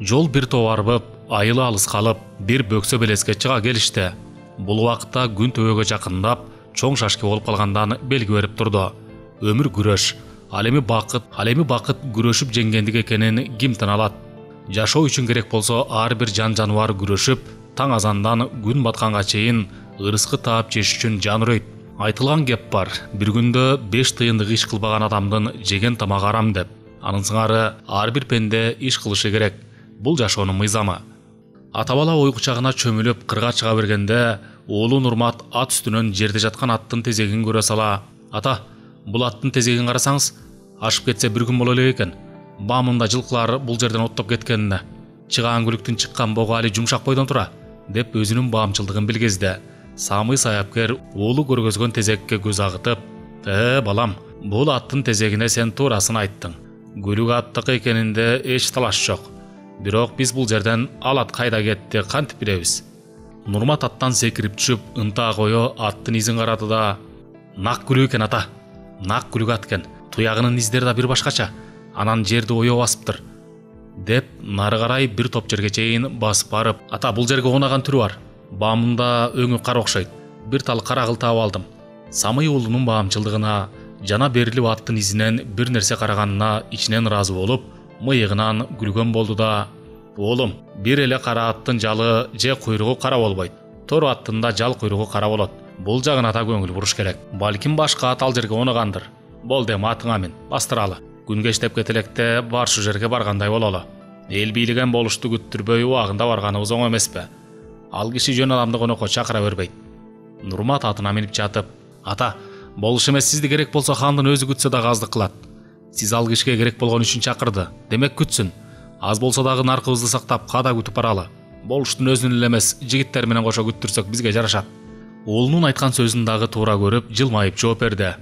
Жол бир топ арбып, айылы алыс калып, бир бөксө белеске чыга келишти. Бул убакытта күн төбөгө жакындап, чоң шашки болуп калгандан белги берип турду. Өмүр күрөш, ал эми бакыт, ал эми бакыт күрөшүп жеңгендик экенин ким тана алат? Жашоо үчүн керек болсо ар бир жан жаныбар күрөшүп, таң азандан күн батканга чейин ырыскы таап жеш үчүн жан үрөйт. Айтылган кеп бар, бир күндө беш тыйындык иш кылбаган адамдын жеген тамагы арам деп. Анын сыңары ар бир пенде иш кылышы керек. Бул жашоонун мыйзамы. Ата бала ой кучагына чөмүлүп кырга чыга бергенде, уулу Нурмат ат үстүнөн жерде жаткан аттын тезегин көрө сала, "Ата, бул аттын тезегин карасаңыз, ашып кетсе бир күн боло элек экен. Баамында жылкылар бул жерден оттоп кеткенине. Чыгаан күлүктүн чыккан богу али жумшак бойдон тура", деп өзүнүн баамчылдыгын билгизди. Самый саяпкер уулу көргөзгөн тезекке көз агытып, "Э, балам, бул аттын тезегине сен туурасын айттың. Күлүк аттыкы экенинде эч талаш жок. Бирок биз бул жерден ал ат кайда кетти, кантип билебиз?" Нурмат аттан секирип түшүп, ынтаа кое аттын изин карады да, "Нак күлүк экен ата. Нак күлүк ат экен. Туягынын издери да бир башкача. Анан жерди оё басыптыр", деп нары карай бир топ жерге чейин басып барып, "Ата, бул жерге оонаган түрү бар. Баамында өңү кара окшойт. Бир тал кара кыл таап алдым." Самый уулунун баамчылдыгына, жана берилип аттын изинен бир нерсе караганына ичинен ыраазы болуп, мыйыгынан күлгөн болду да, "Оолум, бир эле кара аттын жалы же куйругу кара болбойт. Тор аттын да жал куйругу кара болот. Бул жагына да көңүл буруш керек. Балким башка ат ал жерге оонагандыр. Болду эми атыңа мин, бастыралы. Күн кечтеп кете электе бар шу жерге баргандай бололу. Эл бийлеген болушту күттүрбөй убагында барганыбыз оң эмеспи? Ал киши жөн адамды конокко чакыра бербейт." Нурмат атына минип жатып, "Ата, болуш эмес, сизди керек болсо хандын өзү күтсө дагы аздык кылат. Сиз ал кишиге керек болгон үчүн чакырды. Демек күтсүн. Аз болсо дагы наркыбызды сактап, када күтүп баралы. Болуштун өзүн эле эмес, жигиттер менен кошо күттүрсөк бизге жарашат." Уулунун айткан сөзүн дагы туура көрүп, жылмайып жооп берди.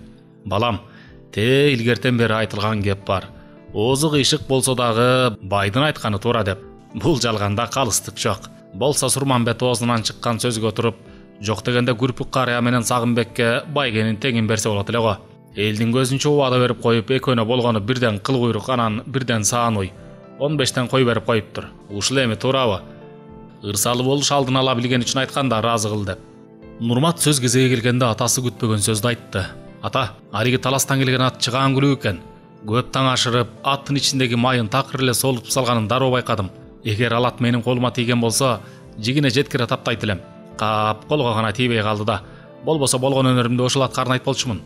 "Балам, те илгертен бери айтылган кеп бар. Оозу кыйшык болсо дагы байдын айтканы туура" деп. Бул жалганда калыстык жок. Болсо Сурманбет оозунан чыккан сөзгө туруп, Жок дегенде Күрпүк карыя менен Сагынбекке байгенин теңин берсе болот эле го. Элдин көзүнчө убада берип коюп, экөөнө болгону бирден кыл куйрук, анан бирден Саануй. он бештен кой берип коюптур. Ушул эми туурабы? Ырсалы болуш алдын ала билген үчүн айтканда ыраазы кыл деп. Нурмат сөз кезеги келгенде атасы күтпөгөн сөздү айтты. Ата, ариги таластан келген ат чыгаан күлүк экен. Көп таң ашырып, аттын ичиндеги майын такыр эле солутуп салганын дароо байкадым. Эгер ал ат менин колума тийген болсо, жигине жеткире таптайт элем. Кап колго гана тийбей калды да. Болбосо болгон өнөрүмдү ошол атка арнайт болчумун.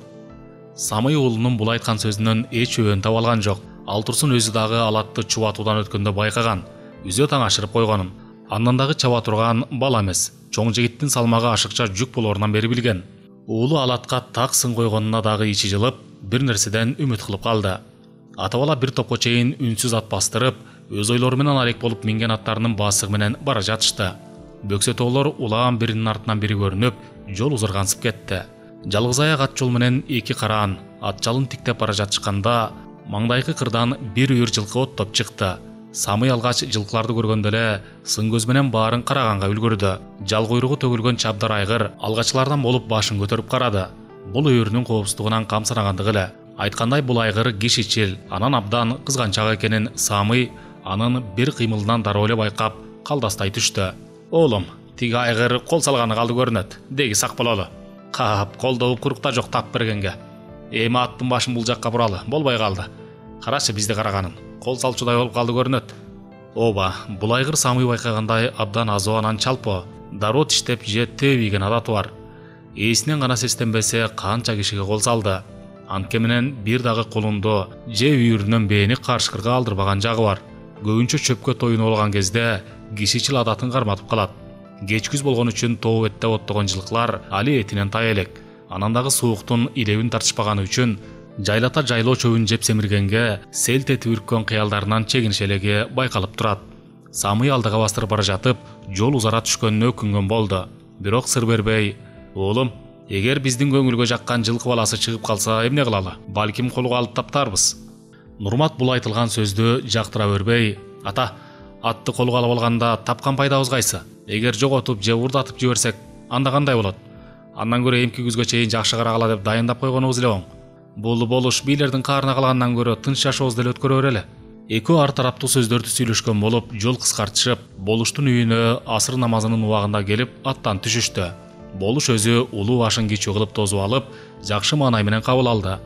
Самый уулунун бул айткан сөзүнөн эч өбөн таба алган жок. Ал турсун өзү дагы ал атты чубатуудан өткөндө байкаган, үзө таң ашырып койгонун. Андан дагы чаба турган бала эмес, чоң жигиттин салмагы ашыкча жүк болорунан бери билген. Уулу ал атка так сын койгонуна дагы ичи жылып, бир нерседен үмүт кылып калды. Ата бала бир топко чейин үнсүз ат бастырып, өз ойлору менен алек болуп минген аттарынын басыгы менен бара жатышты. Бөксө тоолор улаган биринин артынан бири көрүнүп, жол узаргансып кетти. Жалгыз аяк ат жол менен эки караан ат жалын тиктеп бара жатышканда, маңдайкы кырдан бир үйүр жылкы оттоп чыкты. Самый алгач жылкыларды көргөндө эле сын көз менен баарын караганга үлгүрдү. Жал куйругу төгүлгөн чабдар айгыр алгачылардан болуп башын көтөрүп карады. Бул үйүрүнүн коопсуздугунан камсырагандыгы эле. Айткандай бул айгыр кишичил, анан абдан кызганчак экенин Самый анын бир кыймылынан дароо эле байкап, калдастай түштү. Оолум, тиги айгыр кол салганы калды көрүнөт. Деги сак бололу. Кап колдогу курукта жок тап бергенге. Эми аттын башын бул жакка буралы, болбой калды. Карашы бизди караганын. Кол салчудай болуп калды көрүнөт. Ооба, бул айгыр Самый байкагандай абдан азоо, анан чалпо, дароо тиштеп же тебийген адаты бар. Ээсинен гана сестенбесе канча кишиге кол салды. Анткени менен бир дагы колунду же үйүрүнөн бээни каршкырга алдырбаган жагы бар. Көбүнчө чөпкө тоюнуп алган кезде кишичил адатын карматып калат. Кеч күз болгон үчүн тоо бетте оттогон жылкылар али этинен тай элек. Анан дагы сууктун илебин тартышпаганы үчүн жайлата жайлоо чөбүн жеп семиргенге селт этип үрккөн кыялдарынан чегинишелеги байкалып турат. Самый алдыга бастырып бара жатып, жол узара түшкөнүнө өкүнгөн болду. Бирок сыр бербей, "Оолум, эгер биздин көңүлгө жаккан жылкы баласы чыгып калса эмне кылалы? Балким колго алып таптарбыз." Нурмат бул айтылган сөздү жактыра бербей, "Ата, атты колго алып алганда тапкан пайдабыз кайсы? Эгер жоготуп же урдатып жиберсек, анда кандай болот? Андан көрө эмки күзгө чейин жакшы карагала деп дайындап койгонубуз эле оң. Бул болуш бийлердин каарына калгандан көрө тынч жашообузду эле өткөрө берели." Экөө ар тараптуу сөздөрдү сүйлөшкөн болуп, жол кыскартышып, болуштун үйүнө асыр намазынын убагында келип аттан түшүштү. Болуш өзү улуу башын кичүү кылып тосуп алып, жакшы маанай менен кабыл алды.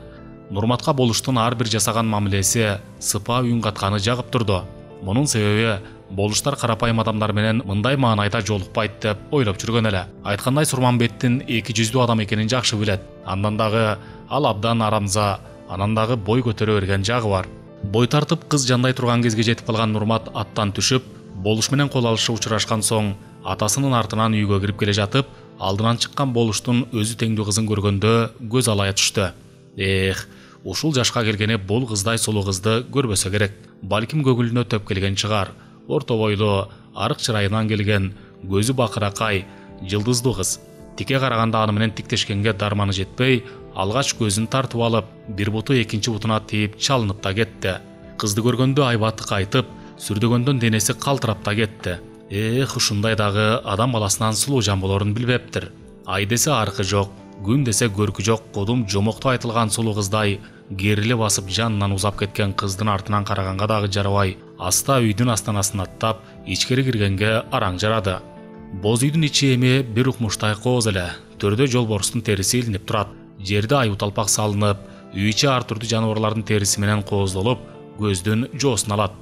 Нурматка болуштун ар бир жасаган мамилеси, сыпаа үн катканы жагып турду. Мунун себеби болуштар карапайым адамдар менен мындай маанайда жолукпайт деп ойлоп жүргөн эле. Айткандай Сурманбеттин эки жүздүү адам экенин жакшы билет. Андан дагы ал абдан арамза, анан дагы бой көтөрө берген жагы бар. Бой тартып кыз жандай турган кезге жетип калган Нурмат аттан түшүп, болуш менен кол алышып учурашкан соң, атасынын артынан үйгө кирип келе жатып, алдынан чыккан болуштун өзү теңдүү кызын көргөндө көз алая түштү. Эх, ушул жашка келгени бул кыздай сулуу кызды көрбөсө керек. Балким көгүлүнө төп келген чыгар. Орто бойлуу, арык чырайынан келген, көзү бакыракай, жылдыздуу кыз. Тике караганда аны менен тиктешкенге дарманы жетпей, алгач көзүн тартып алып, бир буту экинчи бутуна тийип чалынып да кетти. Кызды көргөндө айбаты кайтып, сүрдөгөндөн денеси калтырап да кетти. Эх, ушундай дагы адам баласынан сулуу жан болорун билбептир. Ай десе аркы жок, күн десе көркү жок, кодум жомокту айтылган сулуу кыздай кериле басып жанынан узап кеткен кыздын артынан караганга дагы жарабай, аста үйдүн астанасын аттап, ичкери киргенге араң жарады. Боз үйдүн ичи эми бир укмуштай кооз эле. Төрдө жолборустун териси илинип турат. Жерде аю талпак салынып, үй ичи ар түрдүү жаныбарлардын териси менен кооздолуп, көздүн жоосун алат.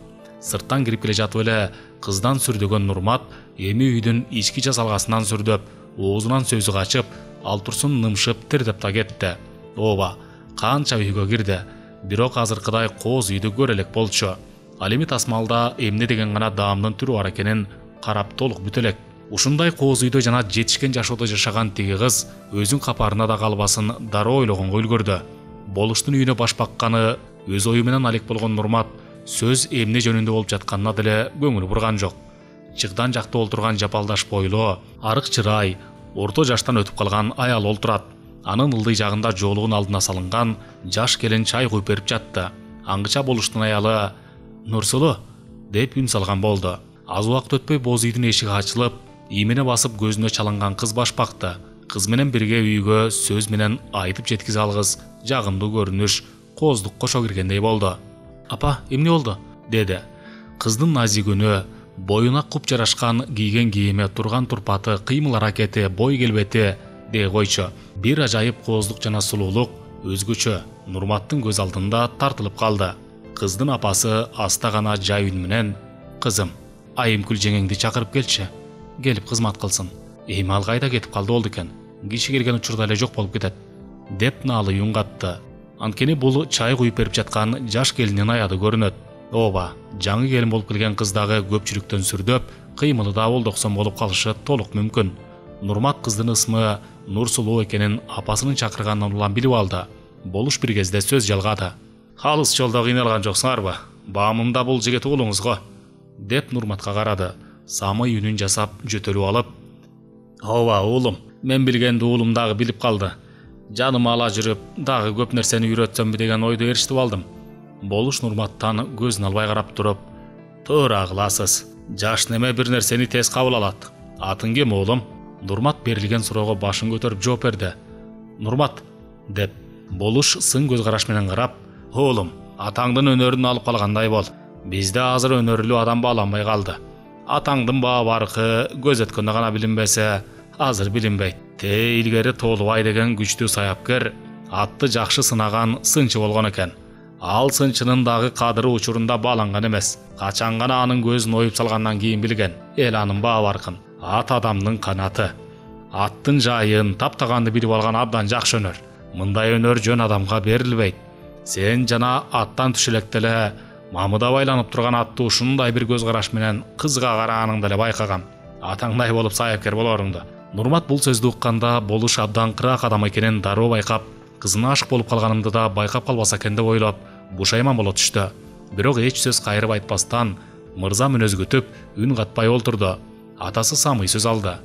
Сырттан кирип келе жатып эле кыздан сүрдөгөн Нурмат эми үйдүн ички жасалгасынан сүрдөп, оозунан сөзү качып, ал турсун нымшып тирдеп да кетти. Ооба, канча үйгө кирди, бирок азыркыдай кооз үйдү көрө элек болчу. Ал эми тасмалда эмне деген гана даамдын түрү бар экенин карап толук бүтө элек. Ушундай кооз үйдө жана жетишкен жашоодо жашаган тиги кыз өзүн капарына да калбасын дароо ойлогонго үлгүрдү. Болуштун үйүнө баш бакканы өз ою менен алек болгон Нурмат сөз эмне жөнүндө болуп жатканына деле көңүл бурган жок. Чыгдан жакта олтурган жапалдаш бойлуу, арык чырай, орто жаштан өтүп калган аял олтурат. Анын ылдый жагында жоолугун алдына салынган жаш келин чай куюп берип жатты. Аңгыча болуштун аялы "Нурсулуу" деп үн салган болду. Аз убакыт өтпөй боз үйдүн эшиги ачылып, иймине басып көзүнө чалынган кыз башпакты. Кыз менен бирге үйгө сөз менен айтып жеткизе алгыс жагымдуу көрүнүш кооздук кошо киргендей болду. «Апа, эмне болду?» деди. Кыздын назик үнү, боюна куп жарашкан кийген кийими, турган турпаты, кыймыл аракети, бой келбети дей койчу. Бир ажайып кооздук жана сулуулук өзгөчө Нурматтын көз алдында тартылып калды. Кыздын апасы аста гана жай үн менен: «Кызым, Айымкүл жеңеңди чакырып келчи. Келип кызмат кылсын. Эми ал кайда кетип калды болду экен? Киши келген учурда эле жок болуп кетет» деп наалы үн катты. Анткени бул чай куюп берип жаткан жаш келиндин аяды көрүнөт. Ооба, жаңы келин болуп келген кыз дагы көпчүлүктөн сүрдөп, кыймылы да болдоксон болуп калышы толук мүмкүн. Нурмат кыздын ысмы Нурсулуу экенин апасынын чакырганынан улам билип алды. Болуш бир кезде сөз жалгады. «Алыс жолдо кыйналган жоксуңарбы? Баамымда бул жигит уулуңуз го» деп Нурматка карады. Самый үнүн жасап жөтөлүп алып: «Ооба уулум, мен билгенди уулум дагы билип калды. Жаным ала жүрүп, дагы көп нерсени үйрөтсөмбү деген ойду ээрчитип алдым». Болуш Нурматтан көзүн албай карап туруп: «Туура кыласыз. Жаш неме бир нерсени тез кабыл алат. Атың ким уулум?» Нурмат берилген суроого башын көтөрүп жооп берди. «Нурмат» деп. Болуш сын көз караш менен карап: «Уулум, атаңдын өнөрүн алып калгандай бол. Бизде азыр өнөрлүү адам бааланбай калды. Атаңдын баа баркы көз өткөндө гана билинбесе, азыр билинбейт. Те илгери Тоолубай деген күчтүү саяпкер, атты жакшы сынаган сынчы болгон экен. Ал сынчынын дагы кадыры учурунда бааланган эмес. Качан гана анын көзүн оюп салгандан кийин билген. Эл анын баа баркын. Ат адамдын канаты. Аттын жайын, таптаганды билип алган абдан жакшы өнөр. Мындай өнөр жөн адамга берилбейт. Сен жана аттан түшө электе эле мамыда байланып турган атты ушундай бир көз караш менен кызга караганыңды эле байкагам. Атаңдай болуп саяпкер болоруңду». Нурмат бул сөздү укканда Болуш абдан кыраак адам экенин дароо байкап, кызына ашык болуп калганымды да байкап калбаса экен деп ойлоп, бушайман боло түштү. Бирок эч сөз кайрып айтпастан, мырза мүнөз күтүп, үн катпай олтурду. Атасы Самый сөз алды.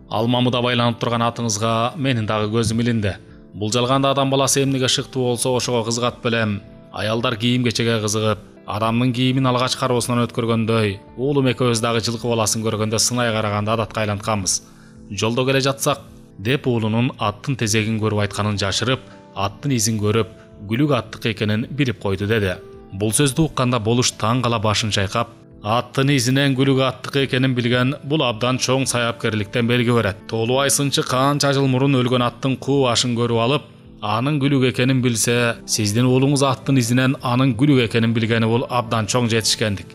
«Ал мамыда байланып турган атыңызга менин дагы көзүм илинди. Бул жалганда адам баласы эмнеге шыктуу болсо ошого кызыгат белем. Аялдар кийим кечеге кызыгып, адамдын кийимин алгач кароосунан өткөргөндөй, уулум экөөбүз дагы жылкы баласын көргөндө сынай караганды адатка айлантканбыз. Жолдо келе жатсак» деп уулунун аттын тезегин көрүп айтканын жашырып, аттын изин көрүп, Күлүк аттык экенин билип койду деди. Бул сөздү укканда Болуш таң кала башын чайкап: «Аттын изинен Күлүк аттык экенин билген бул абдан чоң саяпкерликтен белги берет. Тоолубай сынчы канча жыл мурун өлгөн аттын куу башын көрүп алып, анын Күлүк экенин билсе, сиздин уулуңуз аттын изинен анын Күлүк экенин билгени бул абдан чоң жетишкендик»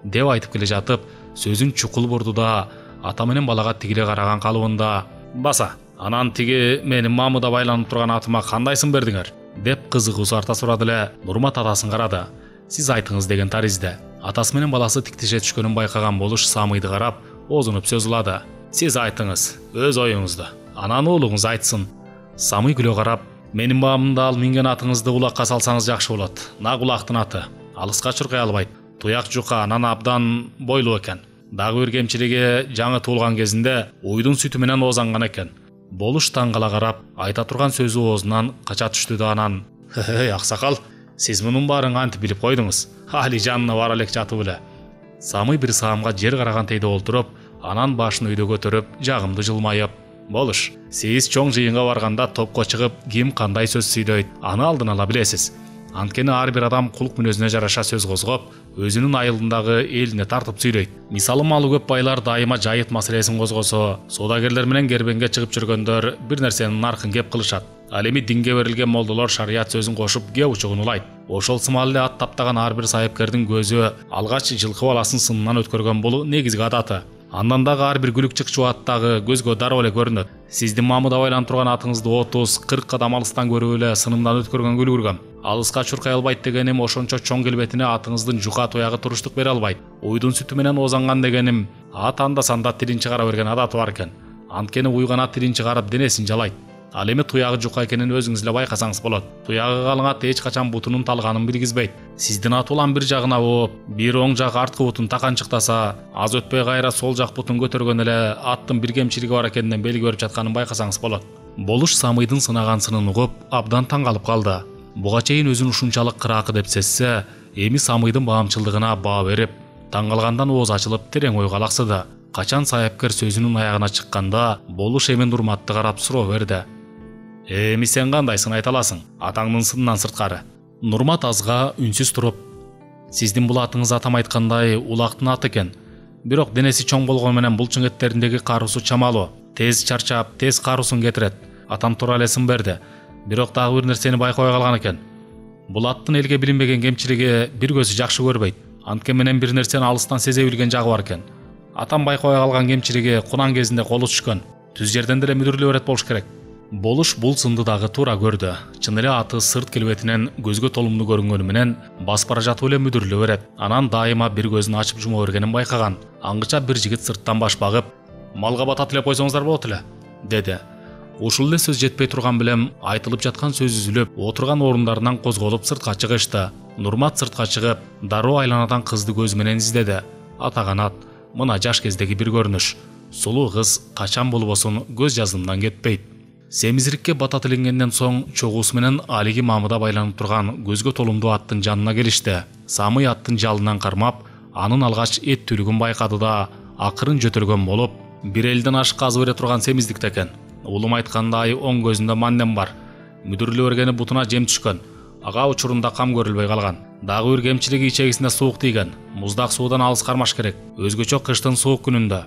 деп айтып келе жатып, сөзүн чукул бурду да ата менен балага тигиле караган калыбында: «Баса, анан тиги менин мамыда байланып турган атыма кандайсын бердиңер?» деп кызыгуусу арта сурады эле. Нурмат атасын карады. «Сиз айтыңыз» деген таризде. Атасы менен баласы тиктеше түшкөнүн байкаган Болуш Самыйды карап, озунуп сөз улады. «Сиз айтыңыз, өз оюңузду. Анан уулуңуз айтсын». Самый күлө карап: «Менин баамымда ал минген атыңызды улакка салсаңыз жакшы болот. Нак улактын аты. Алыска чуркай албайт. Туяк жука, анан абдан бойлуу экен. Дагы бир кемчилиги жаңы туулган кезинде уйдун сүтү менен оозанган экен». Болуш таң кала карап, айта турган сөзү оозунан кача түштү да анан: «Эй, аксакал, сиз мунун баарын кантип билип койдуңуз? Али жанына бара элек жатып эле». Самый бир саамга жер карагантейде олтуруп, анан башын өйдө көтөрүп, жагымды жылмайып: «Болуш, сиз чоң жыйынга барганда топко чыгып, ким кандай сөз сүйлөйт, аны алдын ала билесиз. Анткени ар бир адам кулк мүнөзүнө жараша сөз козгоп, өзүнүн айылындагы элине тартып сүйлөйт. Мисалы, малы көп байлар дайыма жайыт маселесин козгосо, соодагерлер менен кербенге чыгып жүргөндөр бир нерсенин наркын кеп кылышат. Ал эми динге берилген молдолор шарият сөзүн кошуп кеп учугун улайт. Ошол сымал эле ат таптаган ар бир сайыпкердин көзү алгач жылкы баласын сынынан өткөргөн бул негизги адаты. Андан дагы ар бир күлүк чыкчу аттагы көзгө дароо эле көрүнөт. Сиздин мамыда байланып турган атыңызды отуз кырк кадам алыстан көрүп эле сынымдан өткөргөнгө үлгүргөм. Алыска чуркай албайт дегеним ошончо чоң келбетине атыңыздын жука туягы туруштук бере албайт. Уйдун сүтү менен оозанган дегеним, ат анда санда тилин чыгара берген адаты бар экен. Анткени уйган ат тилин чыгарып денесин жалайт. Ал эми туягы жука экенин өзүңүз эле байкасаңыз болот. Туягы калың ат эч качан бутунун талганын билгизбейт. Сиздин ат улам бир жагына ооп, бир оң жак арткы бутун таканчыктаса, аз өтпөй кайра сол жак бутун көтөргөн эле аттын бир кемчилиги бар экенинен белги берип жатканын байкасаңыз болот. Болуш Самыйдын сынаган сынын угуп, абдан таң калып калды. Буга чейин өзүн ушунчалык кыраакы деп сезсе, эми Самыйдын баамчылдыгына баа берип, таң калгандан ооз ачылып терең ойго алаксыды. Качан Саяпкер сөзүнүн аягына чыкканда болуш эми Нурматты карап суроо берди. Эми сен кандайсың айта аласың, атаңдын сынынан сырткары? Нурмат азга үнсүз туруп, сиздин бул атыңыз атам айткандай улактын аты экен. Бирок денеси чоң болгону менен бул чыңгеттериндеги каруусу чамалуу. Тез чарчап, тез каруусун кетирет. Атам туура эле сын берди. Бирок дагы бир нерсени байкабай калган экен. Бул аттын элге билинбеген кемчилиги бир көзү жакшы көрбөйт. Анткени менен бир нерсени алыстан сезе билген жагы бар экен. Атам байкабай калган кемчилиги кунан кезинде колу түшкөн. Түз жерден деле мүдүрүлө берет болуш керек. Болуш бул сынды дагы туура көрдү. Чын эле аты сырт келбетинен көзгө толумдуу көрүнгөнү менен басып бара жатып эле мүдүрүлө берет. Анан дайыма бир көзүн ачып жума бергенин байкаган. Аңгыча бир жигит сырттан баш багып, "Малга батат эле койсоңуздар болот эле", деди. Ушул эле сөз жетпей турган билем айтылып жаткан сөз үзүлүп, отурган орундарынан козголуп сыртка чыгышты. Нурмат сыртка чыгып, дароо айланадан кызды көзү менен издеди. Атаганат, мына жаш кездеги бир көрүнүш. Сулуу кыз качан болбосун көз жаздымдан кетпейт. Семизирикке бата тилингенден соң чогуусу менен алиги мамыда байланып турган көзгө толумдуу аттын жанына келишти. Самый аттын жалынан кармап, анын алгач эттүүлүгүн байкады да, акырын жөтөлгөн болуп, бир элден ашык казы бере турган семиздикте экен. Улум айткандай оң көзүндө мандем бар. Мүдүрүлө бергени бутуна жем түшкөн. Ага учурунда кам көрүлбөй калган. Дагы бир кемчилиги ичегисинде суук тийген. Муздак суудан алыс кармаш керек. Өзгөчө кыштын суук күнүндө.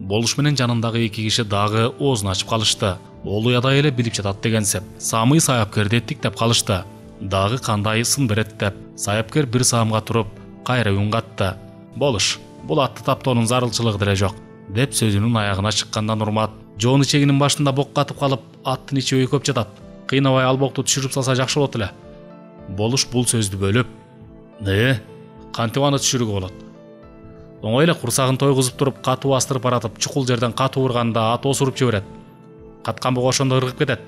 Болуш менен жанындагы эки киши дагы оозун ачып калышты. Ол уядай эле билип жатат дегенсип. Самый Саяпкерди эттиктеп калышты. Дагы кандай сын берет деп. Саяпкер бир саамга туруп, кайра үн катты. Болуш, бул атты таптоонун зарылчылыгы деле жок, деп сөзүнүн аягына чыкканда Нурмат, жоон ичегинин башында бок катып калып, аттын ичи өйкөп жатат. Кыйнабай ал бокту түшүрүп салса жакшы болот эле. Болуш бул сөздү бөлүп, "Э, кантип аны түшүрүүгө болот? Оңой эле курсагын тойгузуп туруп, катуу астырып баратып, чукул жерден катуу урганда ат осуруп жиберет. Каткан буга ошондо ыргып кетет."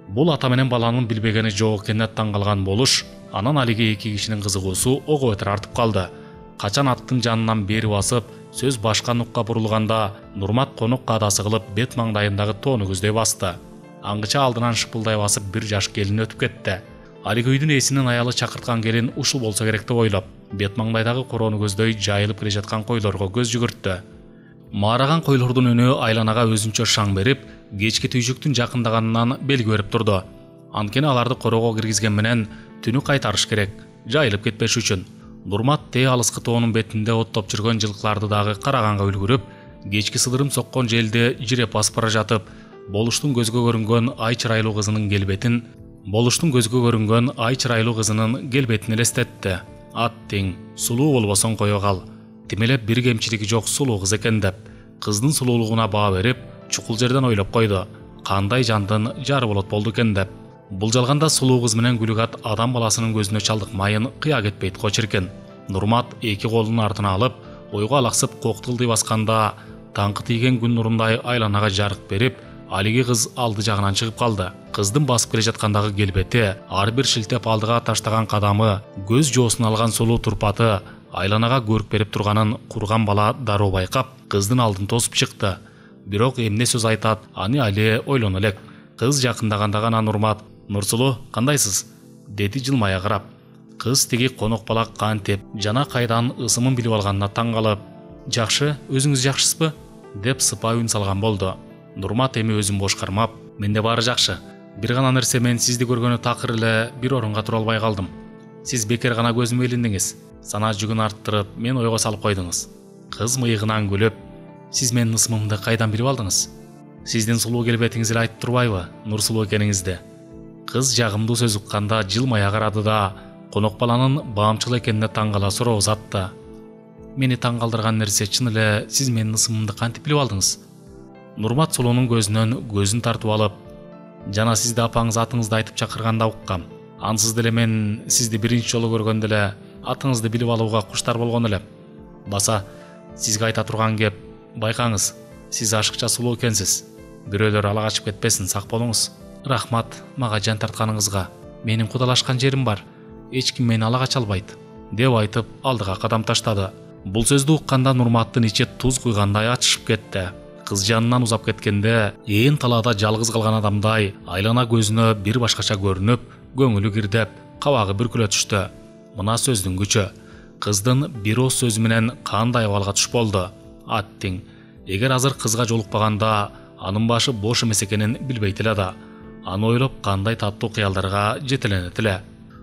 Бул ата менен баланын билбегени жок экенине таң калган Болуш, анан алиги эки кишинин кызыгуусу ого бетер артып калды. Качан аттын жанынан бери басып, сөз башка нукка бурулганда, Нурмат конок каадасы кылып бет маңдайындагы тоону көздөй басты. Аңгыча алдынан шыпылдай басып бир жаш келин өтүп кетти. Алиги үйдүн ээсинин аялы чакырткан келин ушул болсо керек деп ойлоп, бет маңдайдагы короону көздөй жайылып келе жаткан койлорго көз жүгүрттү. Маараган койлордун үнү айланага өзүнчө шаң берип, кечки түйшүктүн жакындаганынан белги берип турду. Анткени аларды короого киргизген менен түнү кайтарыш керек, жайылып кетпеш үчүн. Нурмат тээ алыскы тоонун бетинде оттоп жүргөн жылкыларды дагы караганга үлгүрүп, кечки сыдырым соккон желди жиреп басып бара жатып, Болуштун көзгө көрүнгөн ай чырайлуу кызынын келбетин, Болуштун көзгө көрүнгөн ай чырайлуу кызынын келбетин элестетти. Аттиң, сулуу болбосоң кое кал. Тимелеп бир кемчилиги жок сулуу кыз экен деп, кыздын сулуулугуна баа берип, чукул жерден ойлоп койду. Кандай жандын жары болот болду экен деп. Булжалганда сулуу кыз менен күлүгат адам баласынын көзүнө чалдыкмайын кыя кетпейт го чиркен. Нурмат эки колун артына алып, ойго алаксып коктулдый басканда, таңкы тийген күн нурундай айланага жарык берип, алиги кыз алды жагынан чыгып калды. Кыздын басып келе жаткандагы келбети, ар бир шилтеп алдыга таштаган кадамы, көз жоосун алган сулуу турпаты, айланага көрүк берип турганын курган бала дароо байкап, кыздын алдын тосуп чыкты. Бирок эмне сөз айтат, аны али ойлоно элек. Кыз жакындаганда гана Нурмат, "Нурсулуу, кандайсыз?" деди жылмая карап. Кыз тиги конок бала кантип жана кайдан ысымын билип алганына таң калып, "Жакшы, өзүңүз жакшысызбы?" деп сыпа үн салган болду. Нурмат эми өзүн бош кармап, "Менде баары жакшы. Бир гана нерсе, мен сизди көргөнү такыр эле бир орунга тура албай калдым. Сиз бекер гана көзүмө илиндиңиз. Санаа жүгүн арттырып, мени ойго салып койдуңуз." Кыз мыйыгынан күлүп, "Сиз менин ысымымды кайдан билип алдыңыз? Сиздин сулуу келбетиңиз эле айтып турбайбы, Нурсулуу экениңизди?" Кыз жагымдуу сөз укканда жылмая карады да, конок баланын баамчыл экенине таң кала суроо узатты. "Мени таң калтырган нерсе, чын эле сиз менин ысымымды кантип билип алдыңыз?" Нурмат сулуунун көзүнөн көзүн тартып алып, "Жана сизди апаңыз атыңызды айтып чакырганда уккам. Ансыз деле мен сизди биринчи жолу көргөндө эле атыңызды билип алууга куштар болгон элем. Баса, сизге айта турган кеп, байкаңыз, сиз ашыкча сулуу экенсиз. Бирөөлөр ала качып кетпесин, сак болуңуз. Рахмат мага жан тартканыңызга. Менин кудалашкан жерим бар. Эч ким мени ала кача албайт", деп айтып алдыга кадам таштады. Бул сөздү укканда Нурматтын ичи туз куйгандай ачышып кетти. Кыз жанынан узап кеткенде, ээн талаада жалгыз калган адамдай айлана көзүнө бир башкача көрүнүп, көңүлү кирдеп, кабагы бүркүлө түштү. Мына сөздүн күчү. Кыздын бир ооз сөзү менен кандай абалга туш болду. "Аттиң, Эгер азыр кызга жолукпаганда анын башы бош эмес экенин билбейт эле да. Аны ойлоп кандай таттуу кыялдарга жетеленет эле.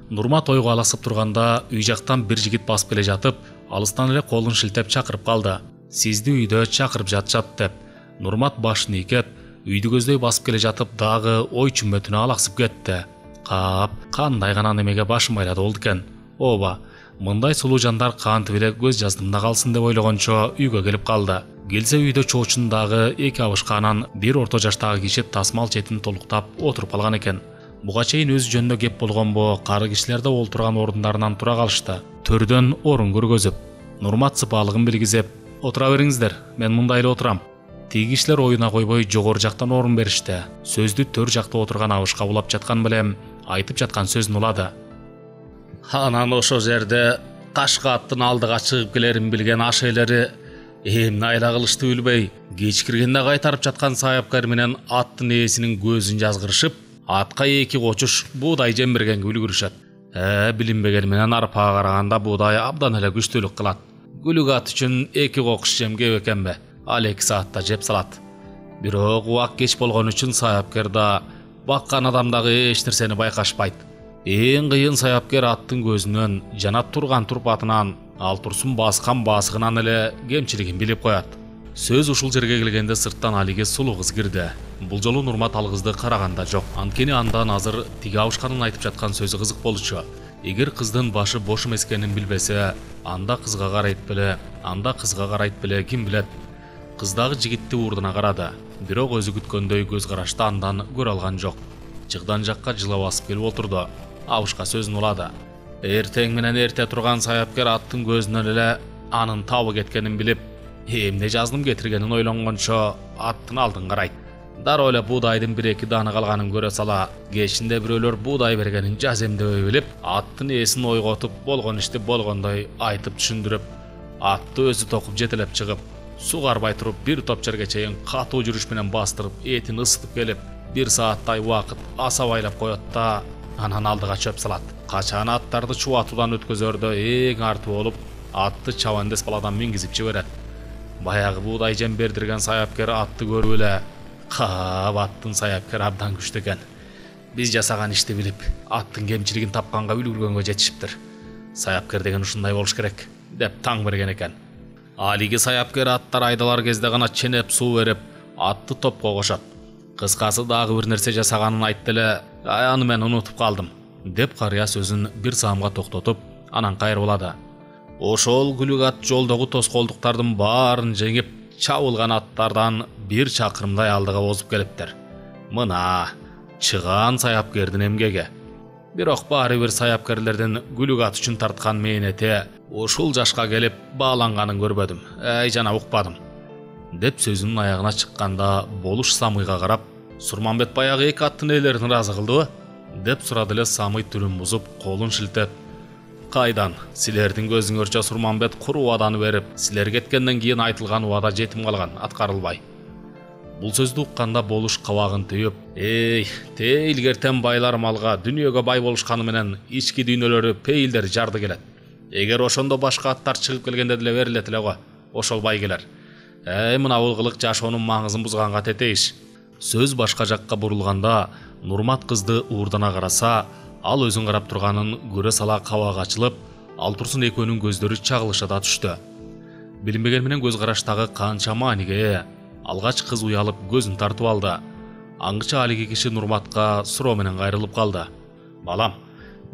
Нурмат ойго аласып турганда үй жактан бир жигит басып келе жатып, алыстан эле колун шилтеп чакырып калды. Сизди үйдө чакырып жатышат деп. Нурмат башын ийкеп, үйдү көздөй басып келе жатып дагы ой чүмөтүнө алаксып кетти. Кап, кандай гана немеге башым айлады болду экен. Ооба, мындай сулуу жандар кантип эле көз жаздымда калсын деп ойлогончо үйгө келип калды. Келсе үйдө чоочун дагы эки абышканан бир орто жаштагы киши тасмал четин толуктап отуруп калган экен. Буга чейин өзү жөнүндө кеп болгонбу, кары кишилер да олтурган орундарынан тура калышты. Төрдөн орун көргөзүп, Нурмат сыпаалыгын билгизип, "Отура бериңиздер, мен мында эле отурам." Тиги кишилер оюна койбой жогору жактан орун беришти. Сөздү төр жакта отурган абышка улап жаткан белем айтып жаткан сөзүн улады. Анан ошол жерде кашка аттын алдыга чыгып келерин билген аш ээлери эмне айла кылышты билбей, кечкиргенде кайтарып жаткан саяпкер менен аттын ээсинин көзүн жазгырышып, атка эки кочуш буудай жембиргенге үлгүрүшөт. Э, билинбегени менен арпага караганда буудай абдан эле күчтүүлүк кылат. Күлүк ат үчүн эки кокуш жем кеп экенбе? Ал эки саатта жеп салат. Бирок убак кеч болгон үчүн саяпкер да, баккан адам дагы эч нерсени байкашпайт. Эң кыйын саяпкер аттын көзүнөн жана турган турпатынан, ал турсун баскан басыгынан эле кемчилигин билип коет. Сөз ушул жерге келгенде сырттан алиге сулуу кыз кирди. Бул жолу Нурмат ал кызды караганда жок. Анткени андан азыр тиги абышканын айтып жаткан сөзү кызык болчу. Эгер кыздын башы бош эмес экенин билбесе, анда кызга карайт беле, анда кызга карайт беле, ким билет. Кыз дагы жигитти уурдуна карады. Бирок өзү күткөндөй көз карашты андан көрө алган жок. Жыгдан жакка жыла басып келип отурду. Абышка сөзүн улады. Эртең менен эрте турган саяпкер аттын көзүнөн эле анын табы кеткенин билип, эмне жаздым кетиргенин ойлонгончо аттын алдын карайт. Дароо эле буудайдын бир эки дааны калганын көрө сала, кечинде бирөөлөр буудай бергенин жаземдебей билип, аттын ээсин ойготуп, болгон ишти болгондой айтып түшүндүрүп, атты өзү токуп жетелеп чыгып, суу карбай туруп бир топ жерге чейин катуу жүрүш менен бастырып, этин ысытып келип, бир сааттай убакыт асабайлап коет да, анан алдыга чөп салат. Качан аттарды чубатуудан өткөзөрдө эң арты болуп, атты чабандес баладан мингизип жиберет. Баягы буудай жем бердирген саяпкер атты көрүп эле, "Кап, аттын саяпкер абдан күчтүү экен. Биз жасаган ишти билип, аттын кемчилигин тапканга үлгүргөнгө жетишиптир. Саяпкер деген ушундай болуш керек" деп таң берген экен. Алиги саяпкер аттар айдалар кезде гана ченеп суу берип, атты топко кошот. Кыскасы дагы бир нерсе жасаганын айтты эле, "Аны мен унутуп калдым" деп карыя сөзүн бир саамга токтотуп, анан кайрылады. Ошол күлүк ат жолдогу тоскоолдуктардын баарын жеңип, чабылган аттардан бир чакырымдай алдыга озуп келиптир. Мына чыгаан саяпкердин эмгеги. Бирок баары бир саяпкерлердин күлүк ат үчүн тарткан мээнети ушул жашка келип бааланганын көрбөдүм. Эй, жана укпадым деп сөзүнүн аягына чыкканда болуш Самыйга карап, "Сурманбет баягы эки аттын ээлерин ыраазы кылдыбы?" деп сурады эле. Самый түрүн бузуп, колун шилтеп, "Кайдан? Силердин көзүңөрчө Сурманбет куру убаданы берип, силер кеткенден кийин айтылган убада жетим калган, аткарылбай." Бул сөздү укканда болуш кабагын түйүп, "Эй, те илгертен байлар малга, дүйнөгө бай болушканы менен ички дүйнөлөрү, пейилдери жарды келет. Эгер ошондо башка аттар чыгып келгенде деле берилет эле го, ошол бай келер. Эй, мына бул кылык жашоонун маңызын бузганга тетейиш." Сөз башка жакка бурулганда, Нурмат кызды уурдана караса, ал өзүн карап турганын көрө сала кабагы ачылып, ал турсун экөөнүн көздөрү чагылыша да түштү. Билинбеген менен көз караштагы канча мааниге ээ. Алгач кыз уялып көзүн тартып алды. Аңгыча алиги киши Нурматка суроо менен кайрылып калды. "Балам,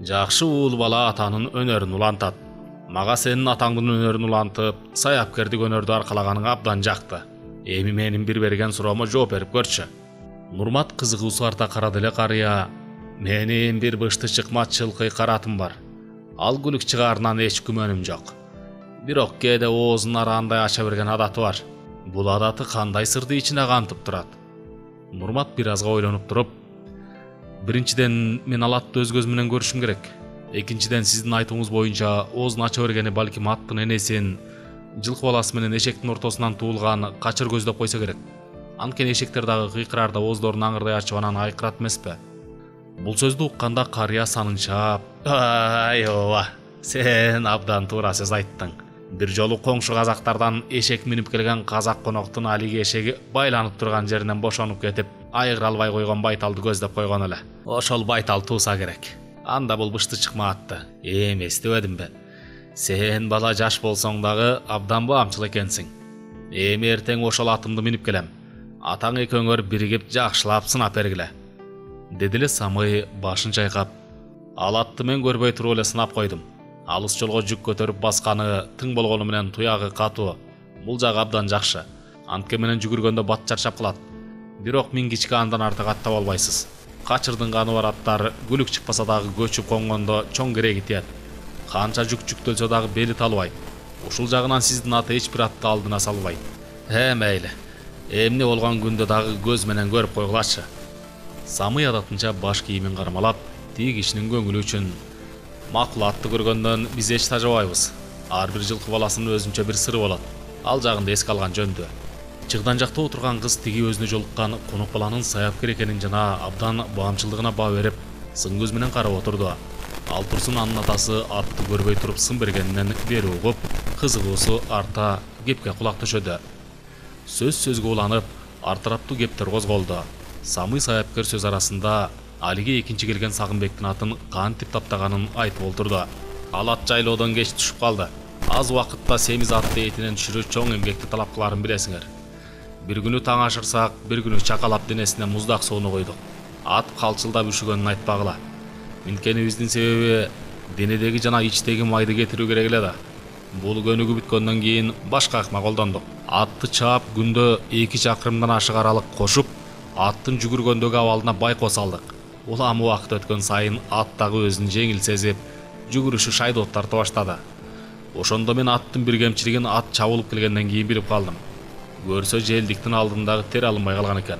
жакшы уул бала атанын өнөрүн улантат. Мага сенин атаңдын өнөрүн улантып, саяпкердик өнөрдү аркалаганың абдан жакты. Эми менин бир берген суроомо жооп берип көрчү." Нурмат кызыгуусу арта карады эле карыя. "Менин бир бышты чыкмат чылкый каратым бар. Ал күлүк чыгаарынан эч күмөнүм жок. Бирок кээде оозун араандай ача берген адаты бар. Бул адаты кандай сырды ичине кантып турат?" Нурмат бир азга ойлонуп туруп, "Биринчиден, мен ал атты өз көзүм менен көрүшүм керек. Экинчиден, сиздин айтууңуз боюнча оозун ача бергени балким аттын энесин, жылкы баласы менен эшектин ортосунан туулган качыр көздөп койсо керек. Анткени эшектер дагы кыйкыраарда ооздорун аңырдай ачып анан айкырат эмеспи?" Бул сөздү укканда карыя санынчаап, "Ай ооба, сен абдан туура сөз айттың. Бир жолу коңшу казактардан эшек минип келген казак коноктун алиги эшеги байланып турган жеринен бошонуп кетип, айгыра албай койгон байталды көздөп койгон эле. Ошол байтал туса керек. Анда бул бышты чыкмаатты. Эм эстебедимби? Сен бала жаш болсоң дагы абдан баамчыл экенсиң. Эми эртең ошол атымды минип келем. Атаң экөөңөр биригип жакшылап сынап бергиле. Деди эле Самый башын чайкап. Ал атты мен көрбөй туруп эле сынап койдум. Алыс жолго жүк көтөрүп басканы тың болгону менен туягы катуу. Бул жагы абдан жакшы. Антке менен жүгүргөндө бат чарчап калат. Бирок мингичке андан артык аттап албайсыз. Качырдын каны бар аттар күлүк чыкпаса дагы көчүп конгондо чоң кереги тиет. Канча жүк жүктөлсө дагы бели талбайт. Ушул жагынан сиздин аты эч бир атты алдына салбайт. Э, мейли. Эмне болгон күндө дагы көз менен көрүп койгулачы. Самый адатынча баш кийимин кармалап, тиги кишинин көңүлү үчүн: макул атты көргөндөн биз эч тажабайбыз. Ар бир жылкы баласынын өзүнчө бир сыры болот. Ал жагында эске алган жөндү. Чыгдан жакта отурган кыз тиги өзүнө жолуккан конок баланын саяпкер экенин жана абдан баамчылдыгына баа берип, сын көз менен карап отурду. Ал турсун анын атасы атты көрбөй туруп сын бергенинен бери угуп, кызыгуусу арта кепке кулак төшөдү. Сөз сөзгө уланып, ар тараптуу кептер козголду. Самый саяпкер сөз арасында алиге экинчи келген Сагынбектин атын кантип таптаганын айтып олтурду. Ал ат жайлоодон кеч түшүп калды. Аз убакытта семиз атты этинен түшүрүү чоң эмгекти талап кыларын билесиңер. Бир күнү таң ашырсак, бир күнү чакалап денесине муздак сууну койдук. Ат калчылдап үшүгөнүн айтпагыла. Минткенибиздин себеби денедеги жана ичтеги майды кетирүү керек эле да. Бул көнүгү бүткөндөн кийин башка ыкма колдондук. Атты чаап күндө эки чакырымдан ашык аралык кошуп, аттын жүгүргөндөгү абалына байкоо салдык. Улам убакыт өткөн сайын ат дагы өзүн жеңил сезип, жүгүрүшү шайдоот тарта баштады. Ошондо мен аттын бир кемчилигин ат чабылып келгенден кийин билип калдым. Көрсө желдиктин алдындагы тер алынбай калган экен.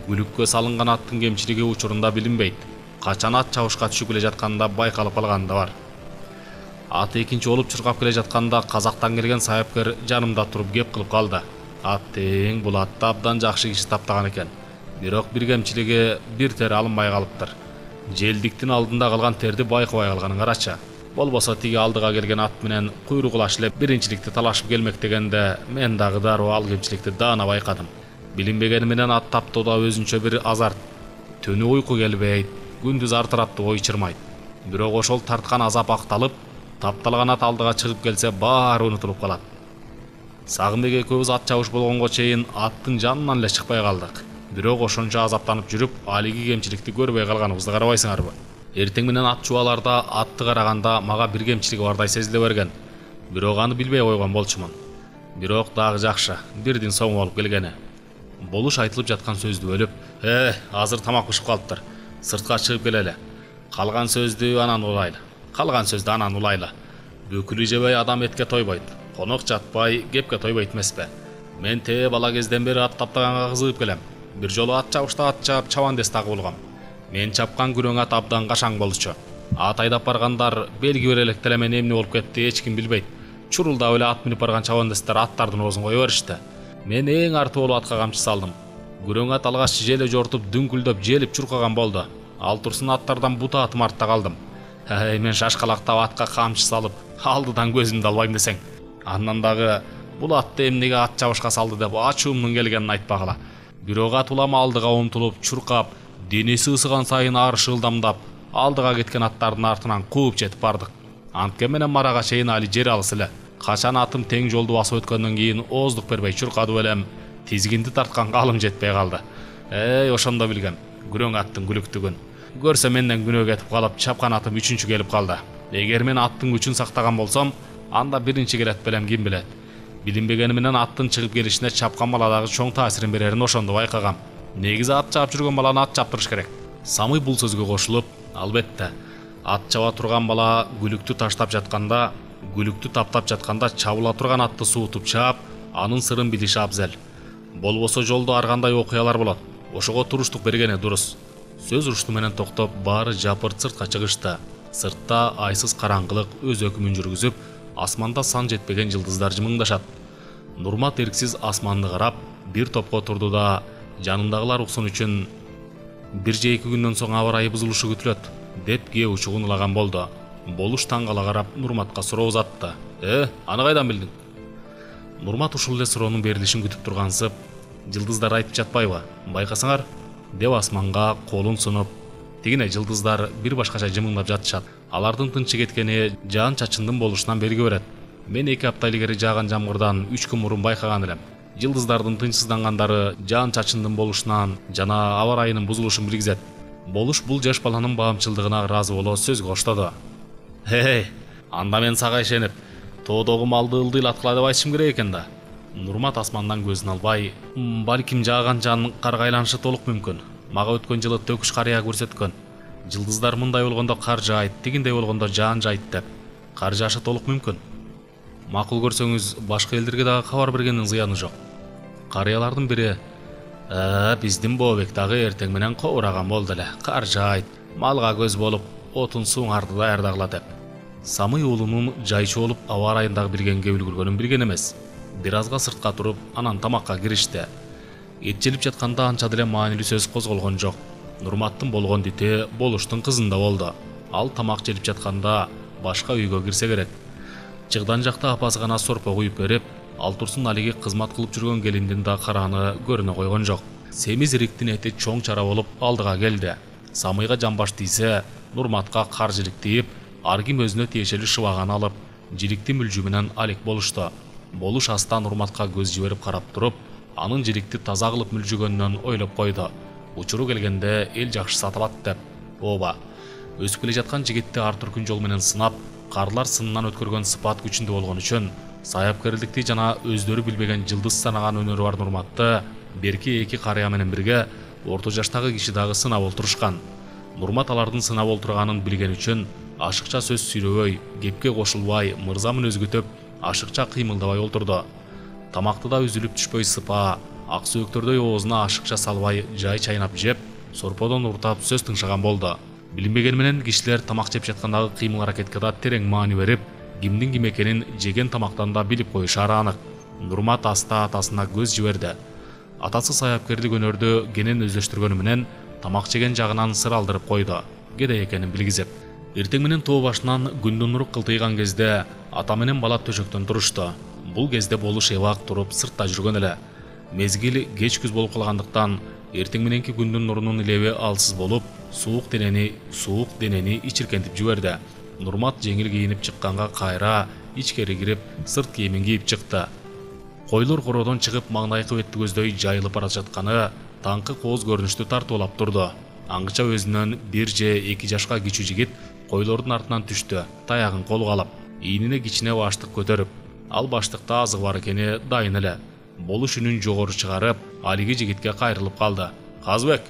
Күлүккө салынган аттын кемчилиги учурунда билинбейт. Качан ат чабышка түшүп келе жатканда байкалып калганы да бар. Ат экинчи болуп чуркап келе жатканда казактан келген саяпкер жанымда туруп кеп кылып калды. Ат тең бул атты абдан жакшы киши таптаган экен. Бирок бир кемчилиги бир тер алынбай калыптыр. Желдиктин алдында калган терди байкабай калганын карачы. Болбосо тиги алдыга келген ат менен куйругулаш эле биринчиликти талашып келмек дегенде мен дагы дароо ал кемчиликти даана байкадым. Билинбегени менен ат таптоодо өзүнчө бир азарт. Түнү уйку келбейт, күндүз ар тараптуу ой чырмайт. Бирок ошол тарткан азап акталып, тапталган ат алдыга чыгып келсе баары унутулуп калат. Сагынбек экөөбүз ат чабыш болгонго чейин аттын жанынан эле чыкпай калдык. Бирок ошончо азаптанып жүрүп, алиги кемчиликти көрбөй калганыбызды карабайсыңарбы? Эртең менен ат чубаларда атты караганда мага бир кемчилиги бардай сезиле берген. Бирок аны билбей койгон болчумун. Бирок дагы жакшы, бирдин соң болуп келгени. Болуш айтылып жаткан сөздү бөлүп: "Э, азыр тамак бышып калыптыр. Сыртка чыгып келели. Калган сөздү анан улайлы. Калган сөздү анан улайлы. Бөкүлү жебей адам этке тойбойт. Конок жатпай кепке тойбойт эмеспи? Мен те бала кезден бери ат таптаганга кызыгып келем. Бир жолу ат чабышта ат чаап чабандес тагып болгом. Мен чапкан күрөң ат абдан кашаң болчу. Ат айдап баргандар белги бере электе эле мен эмне болуп кетти эч ким билбейт. Чурулдап эле ат минип барган чабандестер аттардын оозун кое беришти. Мен эң арты болуп атка камчы салдым. Күрөң ат алгач желе жортуп дүңкүлдөп желип чуркаган болду. Ал турсун аттардан бута атым артта калдым. Эй, мен шашкалактап атка камчы салып, алдыдан көзүмдү албайм десең. Андан дагы бул атты эмнеге ат чабышка салды деп ачуумдун келгенин айтпагыла. Бирок ат улам алдыга умтулуп, чуркап, денеси ысыган сайын ары шылдамдап, алдыга кеткен аттардын артынан кууп жетип бардык. Антке менен марага чейин али жер алыс эле. Качан атым тең жолду басып өткөндөн кийин ооздук бербей чуркады белем, тизгинди тарткан калым жетпей калды. Эй, ошондо билгем, күрөң аттын күлүктүгүн. Көрсө менден күнөө кетип калып, чапкан атым үчүнчү келип калды. Эгер мен аттын күчүн сактаган болсом, анда биринчи келет белем, ким билет. Билинбегени менен аттын чыгып келишине чапкан баладагы чоң таасирин берерин ошондо байкагам. Негизи ат чаап жүргөн баланы ат чаптырыш керек. Самый бул сөзгө кошулуп: "Албетте, ат чаба турган бала күлүктү таштап жатканда, күлүктү таптап жатканда чабыла турган атты суутуп чаап, анын сырын билиши абзел. Болбосо жолдо ар кандай окуялар болот. Ошого туруштук бергени дурус." Сөз урушту менен токтоп, баары жапырт сыртка чыгышты. Сыртта айсыз караңгылык өз өкүмүн жүргүзүп, асманда сан жетпеген жылдыздар жымыңдашат. Нурмат эрксиз асманды карап, бир топко турду да, жанындагылар уксун үчүн: "Бир же эки күндөн соң аба ырайы бузулушу күтүлөт" деп кээ учугун ылаган болду. Болуш таң кала карап Нурматка суроо узатты. Э, аны кайдан билдиң? Нурмат ушул эле суроонун берилишин күтүп тургансып, жылдыздар айтып жатпайбы? Байкасаңар, деп асманга колун сунуп, тигине жылдыздар бир башкача жымыңдап жатышат. Алардын тынчы кеткени жаан чачындын болушунан белги берет. Мен эки апта илгери жааган жамгырдан үч күн мурун байкаган элем. Жылдыздардын тынчсыздангандары жаан чачындын болушунан жана аба ырайынын бузулушун билгизет. Болуш бул жаш баланын баамчылдыгына ыраазы боло сөз коштоду. Хей, анда мен сага ишенип, тоодогу малды ылдыйлаткыла деп айтышым керек экен да. Нурмат асмандан көзүн албай, балким жааган жан карга айланышы толук мүмкүн. Мага өткөн жылы төкүш карыя көрсөткөн. Жылдыздар мындай болгондо кар жаайт, тигиндей болгондо жаан жайт деп. Кар жаашы толук мүмкүн. Макул көрсөңүз, башка элдерге дагы кабар бергендин зыяны жок. Карыялардын бири: "Э, биздин Бообек дагы эртең менен кобураган болду эле. Кар жаайт, малга көз болуп, отун сууңарды даярдагыла" деп. Самый уулунун жайчу болуп аба ырайындагы билгенге үлгүргөнүн билген эмес. Бир азга сыртка туруп, анан тамакка киришти. Эт желип жатканда анча деле маанилүү сөз козголгон жок. Нурматтын болгон дити Болуштун кызында болду. Ал тамак желип жатканда башка үйгө кирсе керек. Чыгдан жакта апасы гана сорпо куюп берип, ал турсун алиги кызмат кылып жүргөн келиндин да карааны көрүнө койгон жок. Семиз ириктин эти чоң чара болуп алдыга келди. Самыйга жамбаш тийсе, Нурматка кар жиликтип, ар ким өзүнө тиешелүү шыбаганы алып, жиликти мүлжү менен алек болушту. Болуш аста Нурматка көз жиберип карап туруп, анын жиликти таза кылып мүлжүгөнүнөн ойлоп койду. Учуру келгенде эл жакшы сатылат деп. Ооба, өсүп келе жаткан жигитти ар түркүн жол менен сынап, карлар сынынан өткөргөн сыпат күчүндө болгон үчүн саяпкерликти жана өздөрү билбеген жылдыз санаган өнөрү бар Нурматты берки эки карыя менен бирге орто жаштагы киши дагы сынап олтурушкан. Нурмат алардын сынап олтурганын билген үчүн ашыкча сөз сүйлөбөй, кепке кошулбай, мырза мүнөзгө ашыкча кыймылдабай олтурду. Тамакты да үзүлүп түшпөй сыпа, ак сөөктөрдөй оозуна ашыкча салбай жай чайнап жеп, сорподон уртап сөз тыңшаган болду. Билинбеген менен кишилер тамак жеп жаткандагы кыймыл аракетке да терең маани берип, кимдин ким экенин жеген тамактан да билип коюшары анык. Нурмат аста атасына көз жиберди. Атасы саяпкерлик өнөрдү кенен өздөштүргөнү менен тамак жеген жагынан сыр алдырып койду, кедей экенин билгизип. Эртең менен тоо башынан күндүн нуру кылтыйган кезде ата менен бала төшөктөн турушту. Бул кезде Болуш эбак туруп сыртта жүргөн эле. Мезгил кеч күз болуп калгандыктан эртең мененки күндүн нурунун илеби алсыз болуп, суук денени, суук денени ичиркентип жиберди. Нурмат жеңил кийинип чыкканга кайра ичкери кирип, сырт кийимин кийип чыкты. Койлор короодон чыгып маңдайкы бетти көздөй жайылып бара жатканы таңкы кооз көрүнүштү тартуулап турду. Аңгыча өзүнөн бир же эки жашка кичүү жигит койлордун артынан түштү, таягын колго алып, ийнине кичине баштык көтөрүп. Ал баштыкта азык бар экени дайын эле. Болуш үнүн жогору чыгарып, алиги жигитке кайрылып калды. Казбек,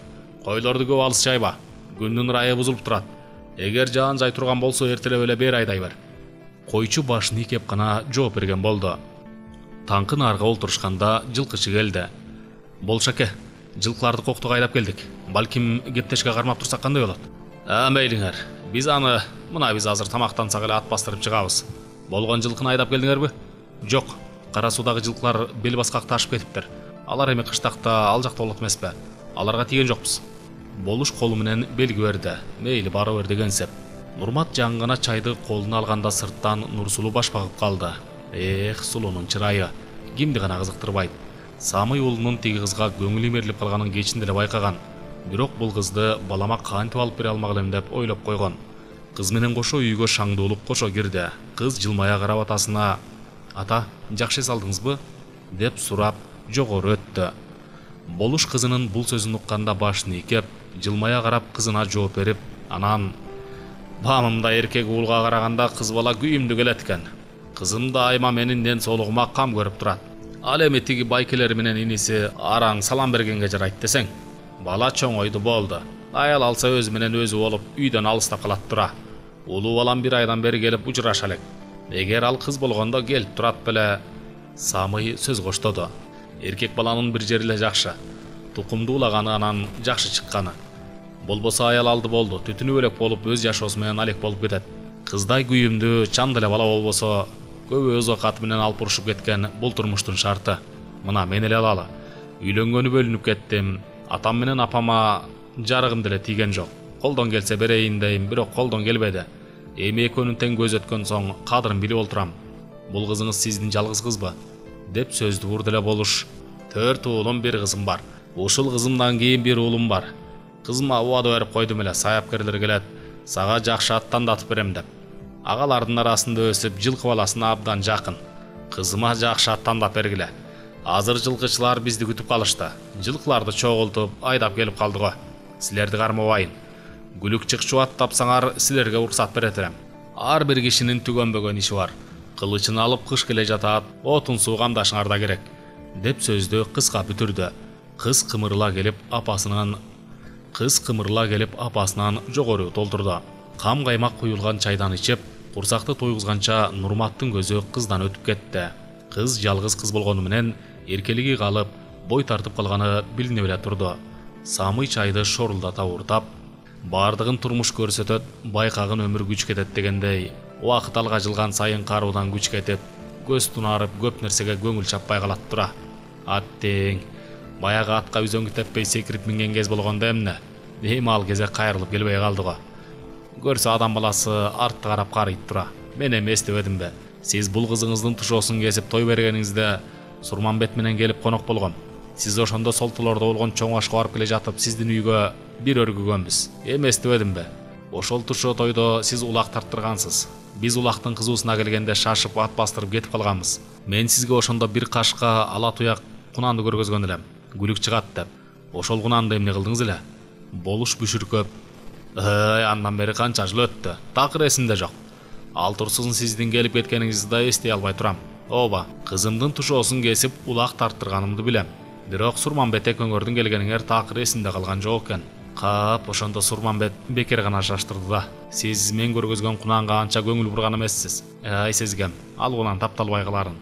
койлорду көп алыс жайба. Күндүн ырайы бузулуп турат. Эгер жаан жай турган болсо эртелеп эле бери айдай бер. Койчу башын ийкеп гана жооп берген болду. Таңкы нарга олтурушканда жылкычы келди. Болшаке, жылкыларды коктуга айдап келдик. Балким кептешке кармап турсак кандай болот? А, мейлиңер. Биз аны, мына биз азыр тамактансак эле ат бастырып чыгабыз. Болгон жылкыны айдап келдиңерби? Жок. Кара суудагы жылкылар бел баскакта ашып кетиптир. Алар эми кыштакта ал жакта болот эмеспи? Аларга тийген жокпуз. Болуш колу менен белги берди. Мейли бара бер дегенсеп. Нурмат жаңгына чайды колуна алганда сырттан Нурсулуу баш багып калды. Эх, сулуунун чырайы. Кимди гана кызыктырбайт. Самый уулунун тиги кызга көңүлү мерилип калганын кечинде эле байкаган. Бирок бул кызды балама кантип алып бере алмак элем деп ойлоп койгон. Кыз менен кошо үйгө шаңдуулуп кошо кирди. Кыз жылмая карап атасына: "Ата, жакшы эс алдыңызбы?" деп сурап жогору өттү. Болуш кызынын бул сөзүн укканда башын ийкеп, жылмая карап кызына жооп берип, анан: "Баамымда эркек уулга караганда кыз бала күйүмдүү келет экен. Кызым да айма менин ден соолугума кам көрүп турат. Ал эми тиги байкелер менен иниси араң салам бергенге жарайт десең. Бала чоңойду болду. Аял алса өзү менен өзү болуп үйдөн алыстап калат тура. Улуу балам бир айдан бери келип учураша элек. Эгер ал кыз болгондо келип турат беле." Самый сөз коштоду. Эркек баланын бир жери эле жакшы. Тукумду улаганы анан жакшы чыкканы. Болбосо аял алды болду, түтүнү бөлөк болуп өз жашоосу менен алек болуп кетет. Кыздай күйүмдүү, чам деле бала болбосо, көбү өз окаты менен алып урушуп кеткен бул турмуштун шарты. Мына мен эле алалы. Үйлөнгөнү бөлүнүп кеттим. Атам менен апама жарыгым деле тийген жок. Колдон келсе берейин дейм, бирок колдон келбеди. Эми экөөнүн тең көз өткөн соң кадырын билип олтурам. Бул кызыңыз сиздин жалгыз кызбы? Деп сөздү урду эле Болуш. Төрт уулум, бир кызым бар. Ушул кызымдан кийин бир уулум бар. Кызыма убада берип койдум эле, саяпкерлер келет, сага жакшы ат тандатып берем деп. Агалардын арасында өсүп, жылкы баласына абдан жакын. Кызыма жакшы ат тандап бергиле. Азыр жылкычылар бизди күтүп калышты. Жылкыларды чогултуп, айдап келип калды го. Силерди кармабайын. Гүлүк чыкчу ат тапсаңар, силерге уруксат берет элем. Ар бир кишинин түгөнбөгөн иши бар. Кылычын алып кыш келе жатат, отун суу камдашыңар да керек. Деп сөздү кыска бүтүрдү. Кыз кымырыла келип апасынан Кыз кымырыла келип апасынан жогору толтурду. Кам каймак куюлган чайдан ичип, курсакты тойгузганча Нурматтын көзү кыздан өтүп кетти. Кыз жалгыз кыз болгону менен эркелиги калып, бой тартып калганы билинип эле турду. Самый чайды шорулдата уртап, бардыгын турмуш көрсөтөт, байкагын өмүр күч кетет дегендей, убакыт алга жылган сайын каруудан күч кетип, көз тунарып көп нерсеге көңүл чаппай калат тура. Аттең, баягы атка үзөңгү теппей секирип минген кез болгондо эмне? Эми ал кезе кайрылып келбей калды го. Көрсө адам баласы артты карап карыйт тура. Мен эми эстебедимби? Сиз бул кызыңыздын тушоосун кесип той бергениңизде Сурманбет менен келип конок болгом. Сиз ошондо Солтулордо болгон чоң ашка барып келе жатып, сиздин үйгө бир өргүгөнбүз. Эми эстебедимби? Ошол тушоо тойдо сиз улак тарттыргансыз. Биз улактын кызуусуна келгенде шашып ат бастырып кетип калганбыз. Мен сизге ошондо бир кашка ала туяк кунанды көргөзгөн элем. Гүлүк чыгат деп. Ошол кунанды эмне кылдыңыз эле? Болуш бүшүркөп. Эй, андан бери канча жыл өттү. Такыр эсимде жок. Ал турсун сиздин келип кеткениңизди да эстей албай турам. Ооба, кызымдын тушоосун кесип улак тарттырганымды билем. Бирок Сурманбет экөөңөрдүн келгениңер такыр эсимде калган жок экен. Кап, ошондо Сурманбет бекер гана шаштырды да. Сиз мен көргөзгөн кунанга анча көңүл бурган эмессиз. Ай, сезгем, ал кунан тапталбай каларын.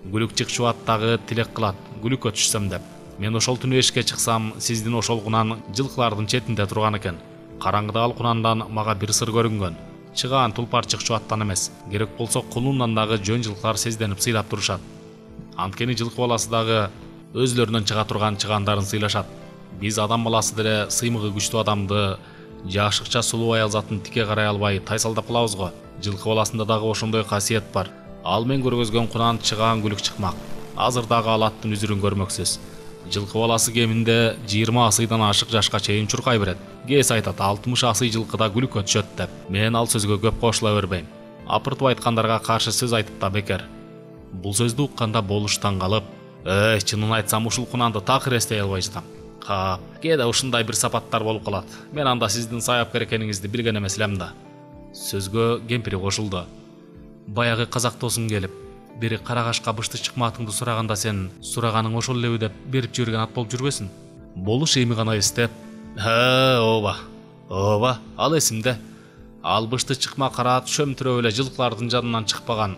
Гүлүк чыкчу аттагы тилек кылат, гүлүккө түшсөм деп. Мен ошол түнү эшикке чыксам, сиздин ошол кунан жылкылардын четинде турган экен. Караңгыда ал кунандан мага бир сыр көрүнгөн. Чыгаан тулпар чыкчу аттан эмес. Керек болсо кулундан дагы жөн жылкылар сезденип сыйлап турушат. Анткени жылкы баласы дагы өзлөрүнөн чыга турган чыгандарын сыйлашат. Биз адам баласы деле сыймыгы күчтүү адамды, жашыкча сулуу аял затын тике карай албай тайсалдап калабыз го. Жылкы баласында дагы ошондой касиет бар. Ал мен көргөзгөн кунан чыгаан гүлүк чыкмак. Азыр дагы ал аттын үзүрүн көрмөксүз. Жылкы баласы кеминде жыйырма асыйдан ашык жашка чейин чуркай берет. Кээс айтат алтымыш асый жылкыда гүлүккө түшөт деп. Мен ал сөзгө көп кошула бербейм. Апыртып айткандарга каршы сөз айтып да бекер. Бул сөздү укканда Болуштан калып, "Эй, чынын айтсам ушул кунанды такыр эстей албай жатам. Кап, кээде ушундай бир сапаттар болуп калат. Мен анда сиздин саяпкер экениңизди билген эмес элем да." Сөзгө кемпири кошулду. "Баягы казак досуң келип, бери Карагашка бышты чыкмаатыңды сураганда сен сураганың ошол элеби деп берип жиберген ат болуп жүрбөсүн?" Болуш эми гана эстеп, "Ха, ооба. Ооба, ал эсимде. Ал бышты чыкма караат шөмтүрөп эле жылкылардын жанынан чыкпаган,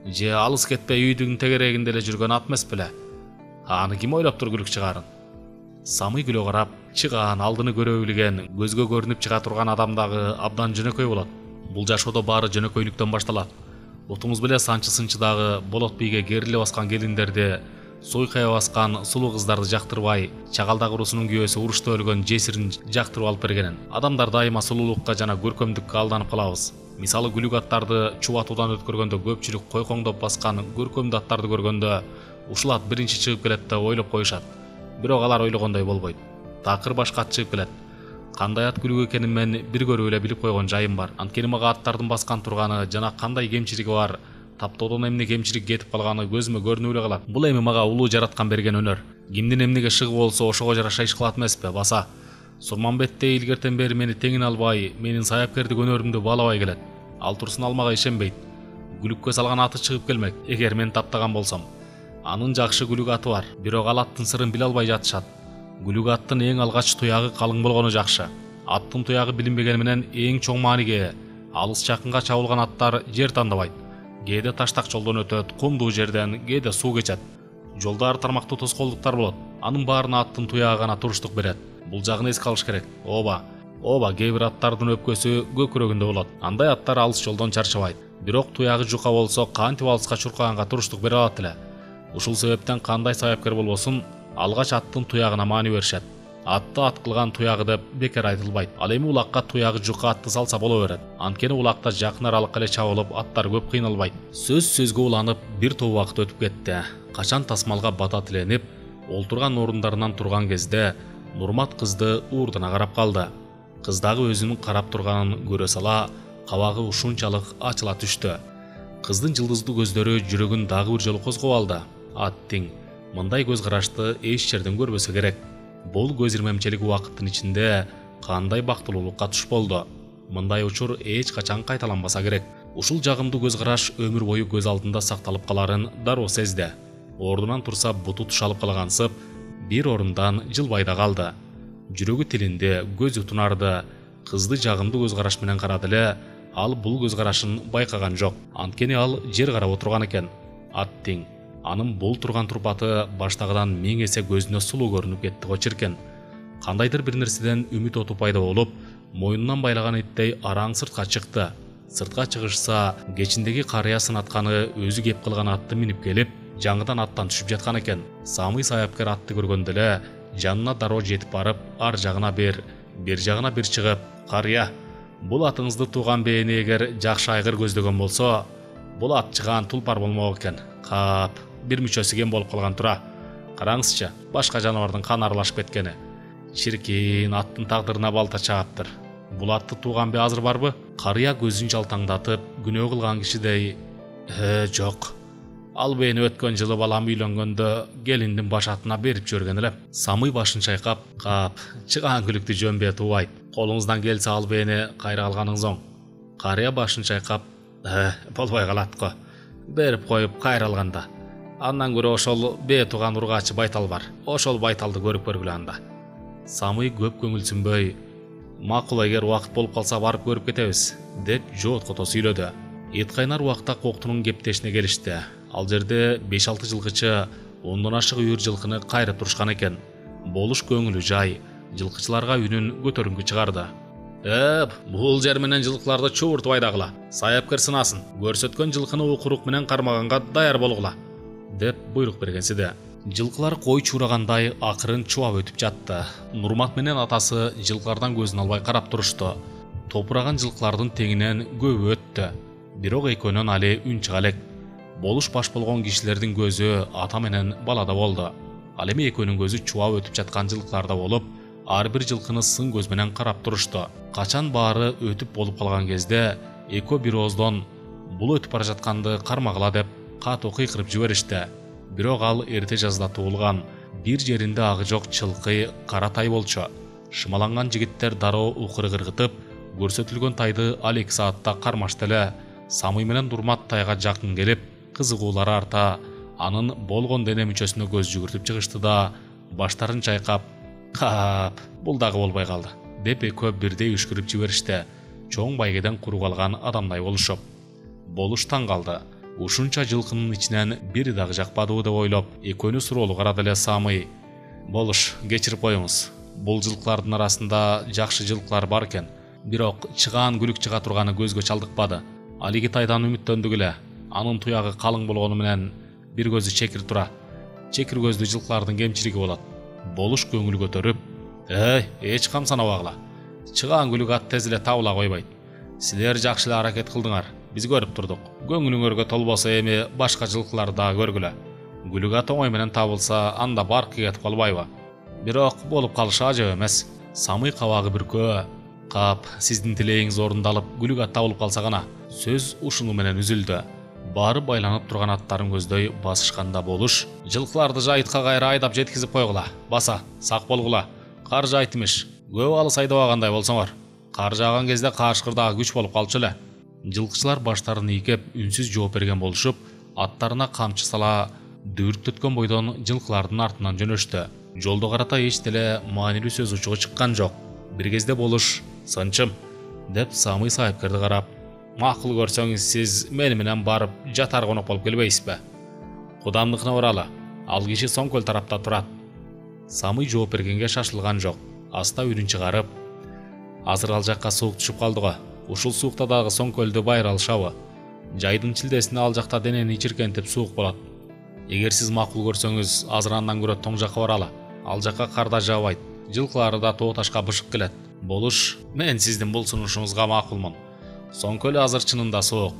же алыс кетпей үйдүн тегерегинде эле жүргөн ат эмес беле? Аны ким ойлоптур гүлүк чыгарын?" Самый күлө карап, чыгаан алдыны көрө билген, көзгө көрүнүп чыга турган адам дагы абдан жөнөкөй болот. Бул жашоодо баары жөнөкөйлүктөн башталат. Отуңуз беле санчы-сынчы дагы болот бийге кериле баскан келиндерди, суйкая баскан сулуу кыздарды жактырбай, чагалдак урусунун күйөөсү урушта өлгөн жесирин жактырып алып бергенин. Адамдар дайыма сулуулукка жана көркөмдүккө алданып калабыз. Мисалы гүлүк аттарды чубатуудан өткөргөндө көпчүлүк койкоңдоп баскан көркөмдүү аттарды көргөндө ушул ат биринчи чыгып келет деп ойлоп коюшат. Бирок алар ойлогондой болбойт. Такыр башка ат чыгып келет. Кандай ат гүлүк экенин мен бир көрүп эле билип койгон жайым бар. Анткени мага аттардын баскан турганы жана кандай кемчилиги бар, таптоодон эмне кемчилик кетип калганы көзүмө көрүнүп эле калат. Бул эми мага улуу жараткан берген өнөр. Кимдин эмнеге шыгы болсо ошого жараша иш кылат эмеспи, баса. Сурманбетте илгертен бери мени теңин албай, менин саяпкердик өнөрүмдү баалабай келет. Ал турсун ал мага ишенбейт. Гүлүккө салган аты чыгып келмек, эгер мен таптаган болсом. Анын жакшы гүлүк аты бар, бирок ал аттын сырын биле албай жатышат. Гүлүк аттын эң алгач туягы калың болгону жакшы. Аттын туягы билинбегени менен эң чоң мааниге алыс жакынга чабылган аттар жер тандабайт. Кээде таштак жолдон өтөт, кумдуу жерден, кээде суу кечет. Жолда ар тармактуу тоскоолдуктар болот. Анын баарына аттын туягы гана туруштук берет. Бул жагын эске алыш керек. Ооба. Ооба, кээ бир аттардын өпкөсү көкүрөгүндө болот. Андай аттар алыс жолдон чарчабайт. Бирок туягы жука болсо кантип алыска чуркаганга туруштук бере алат эле. Ушул себептен кандай саяпкер болбосун, алгач аттын туягына маани беришет. Атты ат кылган туягы деп бекер айтылбайт. Ал эми улакка туягы жука атты салса боло берет. Анткени улакта жакын аралыкка эле чабылып, аттар көп кыйналбайт. Сөз сөзгө уланып, бир топ убакыт өтүп кетти. Качан тасмалга бата тиленип, олтурган орундарынан турган кезде Нурмат кызды уурдана карап калды. Кыз дагы өзүнүн карап турганын көрө сала, кабагы ушунчалык ачыла түштү. Кыздын жылдыздуу көздөрү жүрөгүн дагы бир жолу козгоп алды. Аттиң мындай көз карашты эч жерден көрбөсө керек. Бул көз ирмемчилик убакыттын ичинде кандай бактылуулукка туш болду. Мындай учур эч качан кайталанбаса керек. Ушул жагымдуу көз караш өмүр бою көз алдында сакталып каларын дароо сезди. Ордунан турса буту тушалып калгансып, бир орундан жылбай да калды. Жүрөгү тилинде, көзү тунарды. Кызды жагымдуу көз караш менен карады эле, ал бул көз карашын байкаган жок. Анткени ал жер карап отурган экен. Аттиң анын бул турган турпаты баштагыдан миң эсе көзүнө сулуу көрүнүп кетти го чиркен. Кандайдыр бир нерседен үмүт оту пайда болуп, мойнунан байлаган иттей араң сыртка чыкты. Сыртка чыгышса, кечиндеги карыя сынатканы өзү кеп кылган атты минип келип, жаңыдан аттан түшүп жаткан экен. Самый саяпкер атты көргөндө эле жанына дароо жетип барып, ар жагына бир, бир жагына бир чыгып, "Карыя, бул атыңызды тууган бээни эгер жакшы айгыр көздөгөн болсо, бул ат чыган тулпар болмок экен. Кап, бир мүчөсү кем болуп калган тура. Караңызчы, башка жаныбардын каны аралашып кеткени. Чиркин аттын тагдырына балта чааптыр. Бул атты тууган бе азыр барбы?" Карыя көзүн жалтаңдатып, күнөө кылган кишидей, "Э, жок. Ал бээни өткөн жылы балам үйлөнгөндө келиндин баш атына берип жиберген элем." Самый башын чайкап, "Кап, чыган күлүктү жөн бе туубайт. Колуңуздан келсе ал бээни кайра алганыңыз оң." Карыя башын чайкап, "Э, болбой калат го. Берип коюп кайра алганда. Андан көрө ошол бээ тууган ургаачы байтал бар. Ошол байталды көрүп көргүлө анда." Самый көп көңүлсүнбөй, "Макул, эгер убакыт болуп калса барып көрүп кетебиз" деп жооткото сүйлөдү. Эт кайнар убакта Коктунун кептешине келишти. Ал жерде беш алты жылкычы ондон ашык үйүр жылкыны кайрып турушкан экен. Болуш көңүлү жай, жылкычыларга үнүн көтөрүңкү чыгарды. "Эп, бул жер менен жылкыларды чубуртуп айдагыла. Саяпкер сынасын. Көрсөткөн жылкыны укурук менен кармаганга даяр болгула" деп буйрук бергенсиде. Жылкылар кой чурагандай акырын чубап өтүп жатты. Нурмат менен атасы жылкылардан көзүн албай карап турушту. Топураган жылкылардын теңинен көбү өттү. Бирок экөөнөн али үн чыга элек. Болуш баш болгон кишилердин көзү ата менен балада болду. Ал эми экөөнүн көзү чубап өтүп жаткан жылкыларда болуп, ар бир жылкыны сын көз менен карап турушту. Качан баары өтүп болуп калган кезде экөө бир ооздон "Бул өтүп бара жатканды кармагыла" деп катуу кыйкырып жиберишти. Бирок ал эрте жазда туулган, бир жеринде агы жок чылкый кара тай болчу. Шымаланган жигиттер дароо укыры кыргытып, көрсөтүлгөн тайды ал эки саатта кармашты эле. Самый менен Нурмат тайга жакын келип, кызыгуулары арта, анын болгон дене мүчөсүнө көз жүгүртүп чыгышты да, баштарын чайкап, "Кап, бул дагы болбой калды" деп экөө бирдей үшкүрүп жиберишти. Чоң байгеден куруп алган адамдай болушуп. Болуш таң калды. Ушунча жылкынын ичинен бири дагы жакпадыбы деп ойлоп, экөөнү суроолуу карады эле Самый. "Болуш, кечирип коюңуз. Бул жылкылардын арасында жакшы жылкылар бар экен. Бирок чыгаан күлүк чыга турганы көзгө чалдыкпады. Алиги тайдан үмүттөндүк эле. Анын туягы калың болгону менен бир көзү чекир тура. Чекир көздүү жылкылардын кемчилиги болот." Болуш көңүл көтөрүп, "Эй, эч кам санабагыла. Чыгаан күлүк ат тез эле табыла койбойт. Силер жакшы эле аракет кылдыңар. Биз көрүп турдук. Көңүлүңөргө толбосо эми башка жылкыларды дагы көргүлө. Күлүк ат оңой менен табылса, анда баркы кетип калбайбы? Бирок болуп калышы ажап эмес." Самый кабагы бүркөө, "Кап, сиздин тилегиңиз орундалып, күлүк ат табылып калса гана." Сөз ушуну менен үзүлдү. Баары байланып турган аттарын көздөй басышканда Болуш, "Жылкыларды жайытка кайра айдап жеткизип койгула. Баса, сак болгула. Кар жайыт имиш. Көп алыс айдабагандай болсоңор. Кар жааган кезде каашкыр дагы күч болуп калчу эле." Жылкычылар баштарын ийкеп үнсүз жооп берген болушуп, аттарына камчы сала дүүрүктөткөн бойдон жылкылардын артынан жөнөштү. Жолдо карата эч деле маанилүү сөз учугу чыккан жок. Бир кезде Болуш, "Сынчым" деп Самый саяпкерди карап, "Макул көрсөңүз, сиз мени менен барып жатар конок болуп келбейсизби? Кудамдыкына баралы. Ал киши соң көл тарапта турат." Самый жооп бергенге шашылган жок. Аста үнүн чыгарып, "Азыр ал жакка суук түшүп калды го. Ушул суукта дагы соң көлдү байра алышабы? Жайдын чилдесинде ал жакта денени чиркентип суук болот. Эгер сиз макул көрсөңүз, азыр андан көрө тоң жакка баралы. Ал жакка кар да жаабайт. жылкылары да тоо ташка бышып келет. Болуш, мен сиздин бул сунушуңузга макулмун. Соңку эле азыр чынында суук.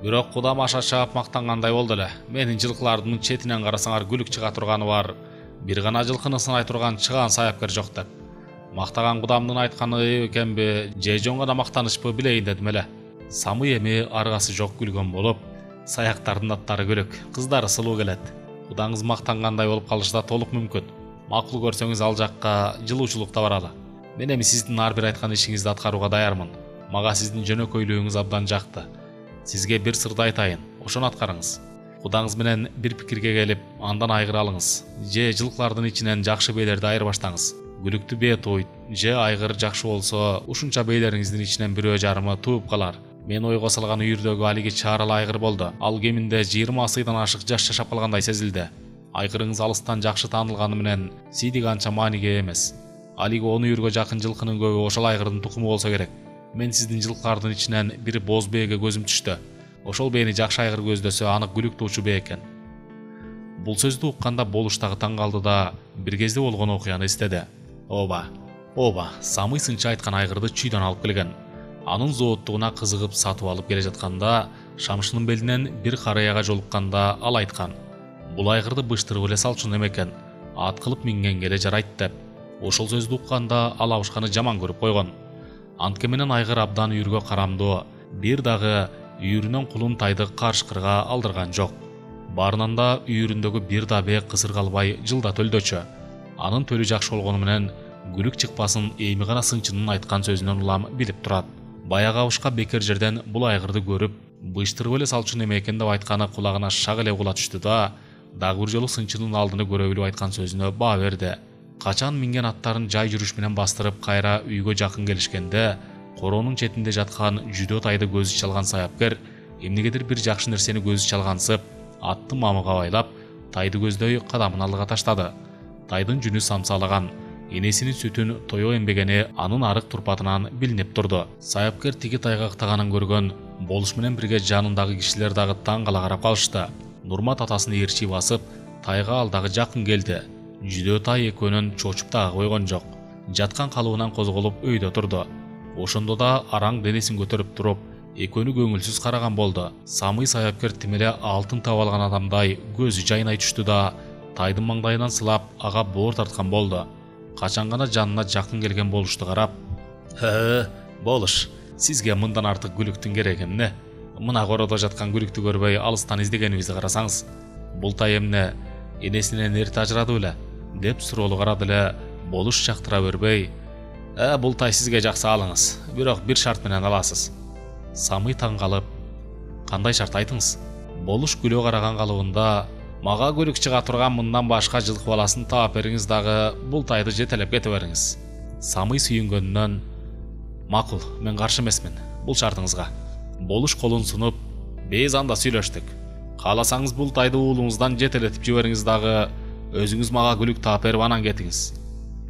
Бирок Кудам аша чаап мактангандай болду эле. Менин жылкылардын четинен карасаңар күлүк чыга турганы бар. Бир гана жылкыны сынай турган чыгаан саяпкер жок деп. Мактаган Кудамдын айтканы экенби, же жон гана мактанышпы билейин дедим эле. Самый эми аргасы жок күлгөн болуп, саяктардын аттары күлүк, кыздары сылуу келет. Кудаңыз мактангандай болуп калышы да толук мүмкүн. Макул көрсөңүз ал жакка жылуучулукта баралы. Мен эми сиздин ар бир айткан ишиңизди аткарууга даярмын. Мага сиздин жөнөкөйлүгүңүз абдан жакты. Сизге бир сырды айтайын, ошону аткарыңыз. Кудаңыз менен бир пикирге келип, андан айгыр алыңыз. Же жылкылардын ичинен жакшы бейлерди айырбаштаңыз. Күлүктү бээ тууйт, же айгыр жакшы болсо, ушунча бейлериңиздин ичинен бирөө жарымы тууп калар. Мен ойго салган үйүрдөгү алиги чаарал айгыр болду. Ал кеминде жыйырма асыйдан ашык жаш жашап калгандай сезилди. Айгырыңыз алыстан жакшы таанылганы менен сийдик анча мааниге эмес. Алиги он үйүргө жакын жылкынын көбү ошол айгырдын тукуму болсо керек. Мен сиздин жылкылардын ичинен бир боз бээге көзүм түштү. Ошол бээни жакшы айгыр көздөсө анык күлүк туучу бээ экен. Бул сөздү укканда Болуш дагы таң калды да бир кезде болгон окуяны эстеди. Ооба, ооба, Самый сынчы айткан айгырды чүйдөн алып келген. Анын зооттугуна кызыгып сатып алып келе жатканда, Шамшынын белинен бир караяга жолукканда ал айткан: "Бул айгырды быштырып эле салчу неме экен, ат кылып мингенге эле жарайт" деп. Ошол сөздү укканда ал абышканы жаман көрүп койгон. Антке менен айгыр абдан үйүргө карамдуу, бир дагы үйүрүнөн кулун тайды карышкырга алдырган жок. Баарынан да үйүрүндөгү бир да бээ кысыр калбай жылда төлдөчү. Анын төлү жакшы болгону менен күлүк чыкпасын эми гана сынчынын айткан сөзүнөн улам билип турат. Баягы абышка бекер жерден бул айгырды көрүп, быштырып эле салчу неме экен деп айтканы кулагына шак эле угула түштү да, дагы бир жолу сынчынын алдыны көрө билип айткан сөзүнө баа берди. Качан минген аттарын жай жүрүш менен бастырып кайра үйгө жакын келишкенде, короонун четинде жаткан жүдө тайды көзү чалган саяпкер эмнегедир бир жакшы нерсени көзү чалгансып, атты мамыга байлап, тайды көздөй кадамын алдыга таштады. Тайдын жүнү самсалаган, энесинин сүтүн тое эмбегени анын арык турпатынан билинип турду. Саяпкер тиги тайга ыктаганын көргөн Болуш менен бирге жанындагы кишилер дагы таң кала карап калышты. Нурмат атасын ээрчи басып, тайга ал дагы жакын келди. Жүдө тай экөөнөн чочуп дагы койгон жок. Жаткан калыбынан козголуп өйдө турду. Ошондо да араң денесин көтөрүп туруп, экөөнү көңүлсүз караган болду. Самый саяпкер тим эле алтын таап алган адамдай көзү жайнай түштү да, тайдын маңдайынан сылап ага боор тарткан болду. Качан гана жанына жакын келген Болушту карап: "Хе, Болуш, сизге мындан артык күлүктүн кереги эмне? Мына короодо жаткан күлүктү көрбөй алыстан издегенибизди карасаңыз, бул тай эмне, энесинен эрте ажырады беле?" деп суроолу карады эле Болуш чактыра бербей: "Э, бул тай сизге жакса алыңыз, бирок бир шарт менен аласыз." Самый таң калып: "Кандай шарт, айтыңыз?" Болуш күлө караган калыбында: "Мага күлүк чыга турган мындан башка жылкы баласын таап бериңиз дагы бул тайды жетелеп кете бериңиз." Самый сүйүнгөнүнөн: "Макул, мен каршы эмесмин бул шартыңызга." Болуш колун сунуп: "Биз анда сүйлөштүк. Кааласаңыз бул тайды уулуңуздан жетелетип жибериңиз дагы өзүңүз мага күлүк таап берип анан кетиңиз."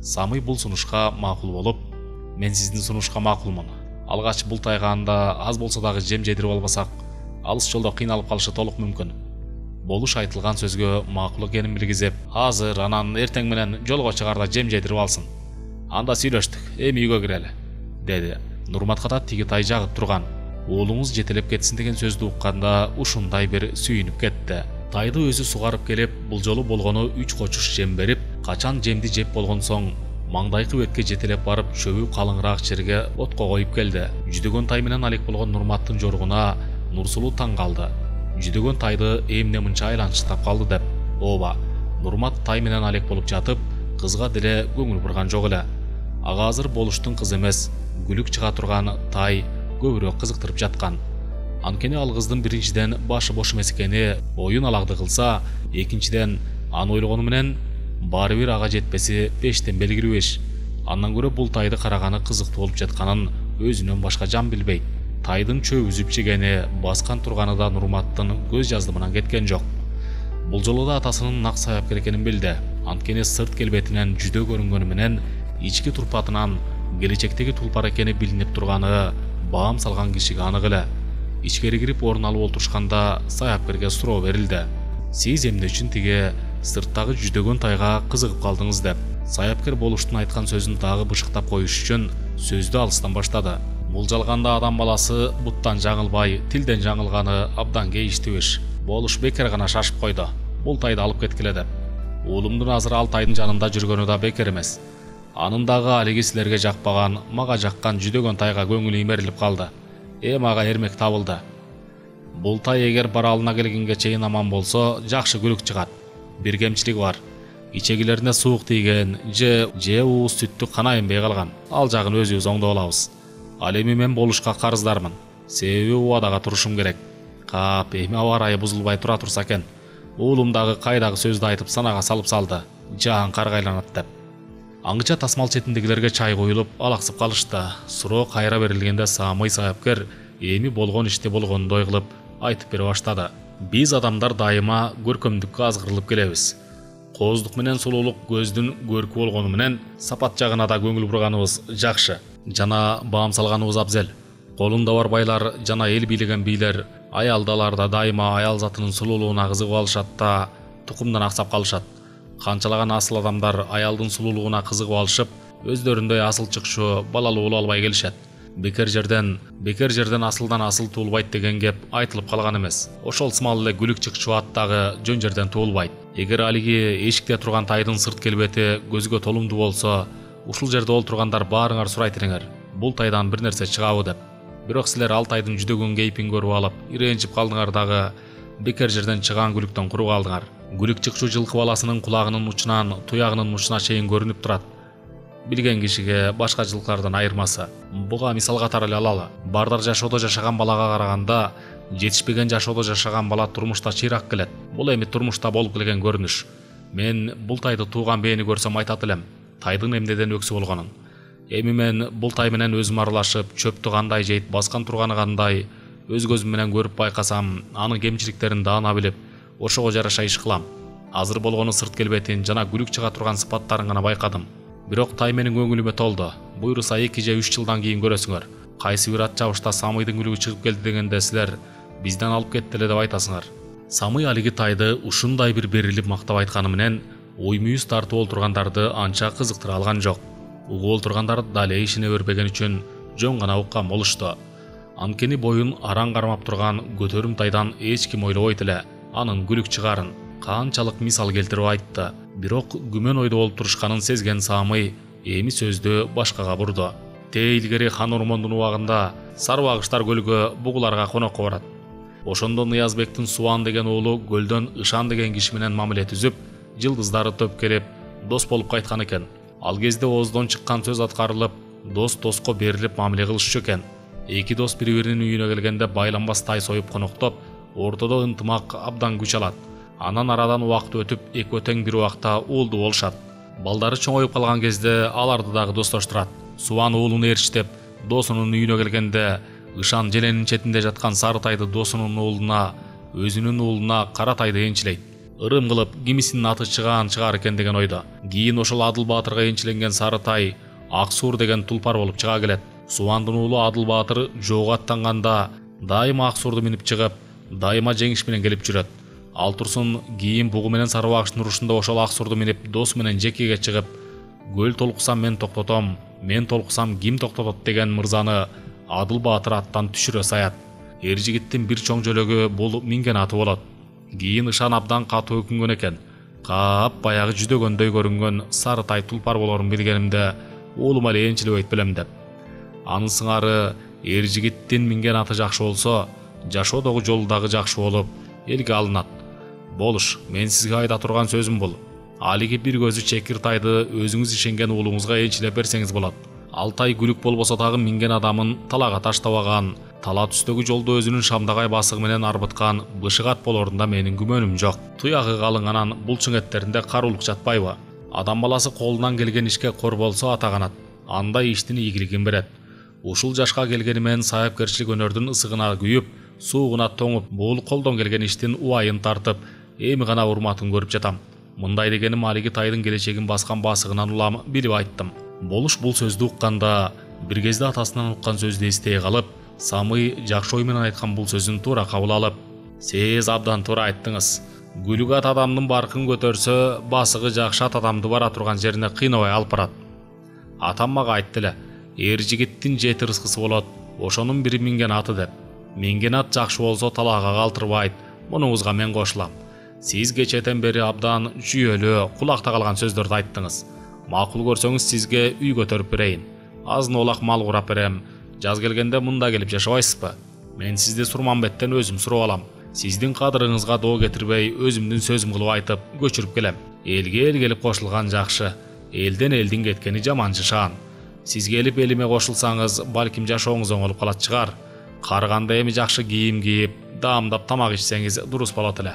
Самый бул сунушка макул болуп: "Мен сиздин сунушка макулмун. Алгач бул тайга анда аз болсо дагы жем жедирип албасак, алыс жолдо кыйналып калышы толук мүмкүн." Болуш айтылган сөзгө макул экенин билгизип: "Азыр, анан эртең менен жолго чыгарда жем жедирип алсын. Анда сүйлөштүк, эми үйгө кирели" деди. Нурматка да тиги тай жагып турган. Уулуңуз жетелеп кетсин деген сөздү укканда ушундай бир сүйүнүп кетти. Тайды өзү сугарып келип, бул жолу болгону үч кочуш жем берип, качан жемди жеп болгон соң маңдайкы бетке жетелеп барып чөбү калыңыраак жерге отко коюп келди. Жүдөгөн тай менен алек болгон Нурматтын жоргуна Нурсулуу таң калды. Жүдөгөн тайды эмне мынча айланчыктап калды деп. Ооба, Нурмат тай менен алек болуп жатып, кызга деле көңүл бурган жок эле. Ага азыр Болуштун кызы эмес, күлүк чыга турган тай көбүрөөк кызыктырып жаткан. Анткени ал кыздын биринчиден башы бош эмес экени оюн алакты кылса, экинчиден аны ойлогону менен баары бир ага жетпеси пештен белгилүү иш. Андан көрө бул тайды караганы кызыктуу болуп жатканын өзүнөн башка жан билбейт. Тайдын чөбүзүп жегени, баскан турганы да Нурматтын көз жаздымынан кеткен жок. Бул жолу да атасынын нак саяпкер экенин билди. Анткени сырт келбетинен жүдө көрүнгөнү менен ички турпатынан келечектеги тулпар экени билинип турганы баам салган кишиге анык эле. Ичкери кирип орун алып олтурушканда саяпкерге суроо берилди: "Сиз эмне үчүн тиги сырттагы жүдөгөн тайга кызыгып калдыңыз деп. Саяпкер болуштун айткан сөзүн дагы бышыктап коюш үчүн сөздү алыстан баштады. Булжалганда адам баласы буттан жаңылбай, тилден жаңылганы абдан кейиштүү иш. Болуш бекер гана шашып койду. Бул тайды алып кеткиле деп. Уулумдун азыр ал тайдын жанында жүргөнү да бекер эмес. Анын дагы алиги силерге жакпаган, мага жаккан жүдөгөн тайга көңүлү имерилип калды. Эми ага эрмек табылды. Бул тай эгер баралына келгенге чейин аман болсо, жакшы күлүк чыгат. Бир кемчилиги бар. Ичегилерине суук тийген, же же ууз сүттү кана эмбей калган. Ал жагын өзүбүз оңдоп алабыз. Ал эми мен болушка карыздармын. Себеби убадага турушум керек. Кап, эми аба ырайы бузулбай тура турса экен. Уулум дагы кайдагы сөздү айтып санага салып салды. Жаан карга айланат деп. Аңгыча тасмал четиндегилерге чай коюлуп, алаксып калышты. Суроо кайра берилгенде Самый саяпкер эми болгон ишти болгондой кылып айтып бере баштады. Биз адамдар дайыма көркөмдүккө азгырылып келебиз. Кооздук менен сулуулук көздүн көркү болгону менен сапат жагына да көңүл бурганыбыз жакшы. Жана баам салганыбыз абзел. Колунда бар байлар жана эл бийлеген бийлер, аялдалар да дайыма аял затынын сулуулугуна кызыгып алышат да тукумдан аксап калышат. Канчалаган асыл адамдар аялдын сулуулугуна кызыгып алышып, өздөрүндөй асыл чыкшуу, балалуу боло албай келишет. Бекер жерден, бекер жерден асылдан асыл туулбайт деген кеп айтылып калган эмес. Ошол сымал эле күлүк чыкчу ат дагы жөн жерден туулбайт. Эгер алиги эшикте турган тайдын сырт келбети көзгө толумдуу болсо, ушул жерде олтургандар баарыңар сурайт элеңер, бул тайдан бир нерсе чыгабы деп. Бирок силер ал тайдын жүдөгөн кейпин көрүп алып, иренчип калдыңар дагы бекер жерден чыган күлүктөн куру калдыңар. Күлүк чыкчу жылкы баласынын кулагынын учунан туягынын мучуна чейин көрүнүп турат. Билген кишиге башка жылкылардан айырмасы. Буга мисал катары эле алалы. Бардар жашоодо жашаган балага караганда, жетишпеген жашоодо жашаган бала турмушта чыйрак келет. Бул эми турмушта болуп келген көрүнүш. Мен бул тайды тууган бээни көрсөм айтат элем, тайдын эмнеден өксү болгонун. Эми мен бул тай менен өзүм аралашып, чөптү кандай жейт, баскан турганы кандай, өз көзүм менен көрүп байкасам, анын кемчиликтерин даана билип, ошого жараша иш кылам. Азыр болгону сырт келбетин жана күлүк чыга турган сыпаттарын гана байкадым. Бирок тай менин көңүлүмө толду. Буйруса эки же үч жылдан кийин көрөсүңөр. Кайсы бир ат жабышта Самыйдын күлүгү чыгып келди дегенде силер бизден алып кетти эле деп айтасыңар. Самый алиги тайды ушундай бир берилип мактап айтканы менен ой мүйүз тартып олтургандарды анча кызыктыра алган жок. Угуп олтургандар дале ишине бербеген үчүн жөн гана уккан болушту. Анткени боюн араң кармап турган көтөрүм тайдан эч ким ойлобойт эле анын күлүк чыгарын. Канчалык мисал келтирип айтты. Бирок күмөн ойдо болуп турушканын сезген Самый эми сөздү башкага бурду. Те илгери хан ормондун убагында Сарыбагыштар көлгө бугуларга конокко барат. Ошондо Ныязбектин Субан деген уулу көлдөн Ышан деген киши менен мамиле түзүп, жылдыздары топ келип, дос болуп кайткан экен. Ал кезде ооздон чыккан сөз аткарылып, дос доско берилип мамиле кылышчу экен. Эки дос бири-биринин үйүнө келгенде байланбас тай союп коноктоп, ортодо ынтымак абдан күч алат. Анан арадан убакыт өтүп, экөө тең бир убакта уулду болушат. Балдары чоңоюп калган кезде аларды дагы достоштурат. Субан уулуну ээрчитеп, досунун үйүнө келгенде Ышан желенин четинде жаткан сары тайды досунун уулуна, өзүнүн уулуна кара тайды энчилейт. Ырым кылып, кимисинин аты чыгаан чыгар экен деген ойдо. Кийин ошол Адыл Баатырга энчиленген сары тай Ак Суур деген тулпар болуп чыга келет. Субандын уулу Адыл Баатыр жоого аттанганда дайыма Ак Суурду минип чыгып, дайыма жеңиш менен келип жүрөт. Ал турсун кийин бугу менен Сарыбагыштын урушунда ошол Ак Суурду минип досу менен жекеге чыгып, көл толкусам мен токтотом, мен толкусам ким токтотот деген мырзаны Адыл Баатыр аттан түшүрө саят. Эр жигиттин бир чоң жөлөгү бул минген аты болот. Кийин Ышан абдан катуу өкүнгөн экен. Кап баягы жүдөгөндөй көрүнгөн сары тай тулпар болорун билгенимде уулума эле энчилебейт белем деп. Анын сыңары эр жигиттин минген аты жакшы болсо, жашоодогу жолу дагы жакшы болуп, элге алынат. Болуш, мен сизге айта турган сөзүм бул. Алиги бир көзү чекир тайды өзүңүз ишенген уулуңузга энчилеп берсеңиз болот. Ал тай күлүк болбосо дагы минген адамын талага таштабаган, тала түстөгү жолду өзүнүн шамдагай басыгы менен арбыткан бышык ат болорунда менин күмөнүм жок. Туягы калың анан булчуң эттеринде каруулук жатпайбы? Адам баласы колунан келген ишке кор болсо ата канат. Андай иштин ийгилигин берет. Ушул жашка келгени менен саяпкерчилик өнөрдүн ысыгына күйүп, суугуна тоңуп, бул колдон келген иштин убайын тартып, эми гана урматын көрүп жатам. Мындай дегеним алиги тайдын келечегин баскан басыгынан улам билип айттым. Болуш бул сөздү укканда, бир кезде атасынан уккан сөздү эстей калып, Самый жакшы ой менен айткан бул сөзүн туура кабыл алып, "Сиз абдан туура айттыңыз. Күлүк ат адамдын баркын көтөрсө, басыгы жакшы ат адамды бара турган жерине кыйнабай алып барат. Атам мага айтты эле, эр жигиттин жети рызкысы болот, ошонун бири минген аты деп. Минген ат жакшы болсо талаага калтырбайт. Мунуңузга мен кошулам. Сиз кечеден бери абдан жүйөлүү, кулакта калган сөздөрдү айттыңыз. Макул көрсөңүз сизге үй көтөрүп берейин. Азын олак мал курап берем. Жаз келгенде мында келип жашабайсызбы? Мен сизди Сурманбеттен өзүм сурап алам. Сиздин кадырыңызга доо кетирбей, өзүмдүн сөзүм кылып айтып, көчүрүп келем. Элге эл келип кошулган жакшы, элден элдин кеткени жаманчы шаан. Сиз келип элиме кошулсаңыз, балким жашооңуз оңолуп калат чыгар. Карыганда эми жакшы кийим кийип, даамдап тамак ичсеңиз дурус болот эле.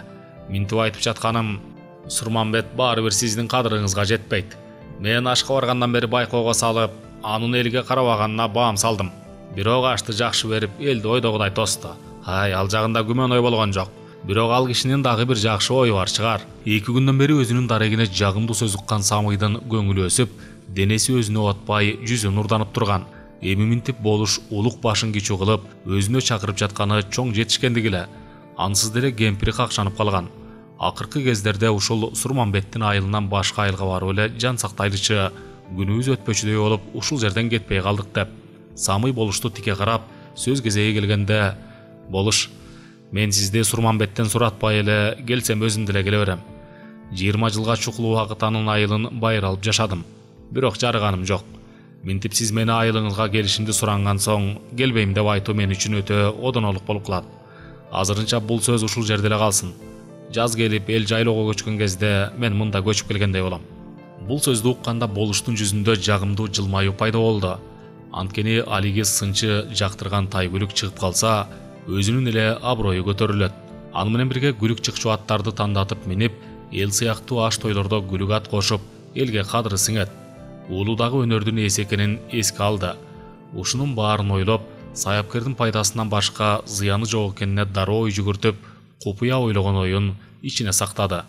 Минтип айтып жатканым, Сурманбет баары бир сиздин кадырыңызга жетпейт. Мен ашка баргандан бери байкоого салып, анын элге карабаганына баам салдым. Бирок ашты жакшы берип, элди ойдогудай тосту. Ай, ал жагында күмөн ой болгон жок. Бирок ал кишинин дагы бир жакшы ою бар чыгар. Эки күндөн бери өзүнүн дарегине жагымдуу сөз уккан Самыйдын көңүлү өсүп, денеси өзүнө отпай, жүзү нурданып турган. Эми минтип болуш улук башын кичүү кылып, өзүнө чакырып жатканы чоң жетишкендиги эле. Ансыз деле кемпири какшанып калган. Акыркы кездерде ушул Сурманбеттин айылынан башка айылга барып эле жан сактайлычы, күнүбүз өтпөчүдөй болуп, ушул жерден кетпей калдык деп. Самый болушту тике карап, сөз кезеги келгенде, болуш, мен сизди Сурманбеттен суратпай эле келсем өзүм деле келе берем. жыйырма жылга чукул убакыт анын айылын байыр алып жашадым. Бирок жарыганым жок. Минтип сиз мени айылыңызга келишимди суранган соң, келбейм деп айтуу мен үчүн өтө одонолук болуп калат. Азырынча бул сөз ушул жерде эле калсын. Жаз келип эл жайлоого көчкөн кезде мен мында көчүп келгендей болом. Бул сөздү укканда болуштун жүзүндө жагымдуу жылмаюу пайда болду. Анткени алиги сынчы жактырган тайгүлүк чыгып калса, өзүнүн эле аброю көтөрүлөт. Аны менен бирге күлүк чыкчу аттарды тандатып минип, эл сыяктуу аш тойлордо күлүк ат кошуп, элге кадыры сиңет. Уулудагы өнөрдүн ээси экенин эске алды. Ушунун баарын ойлоп, саяпкердин пайдасынан башка зыяны жок экенине дароо ой жүгүртүп, купуя ойлогон оюн ичине сактады.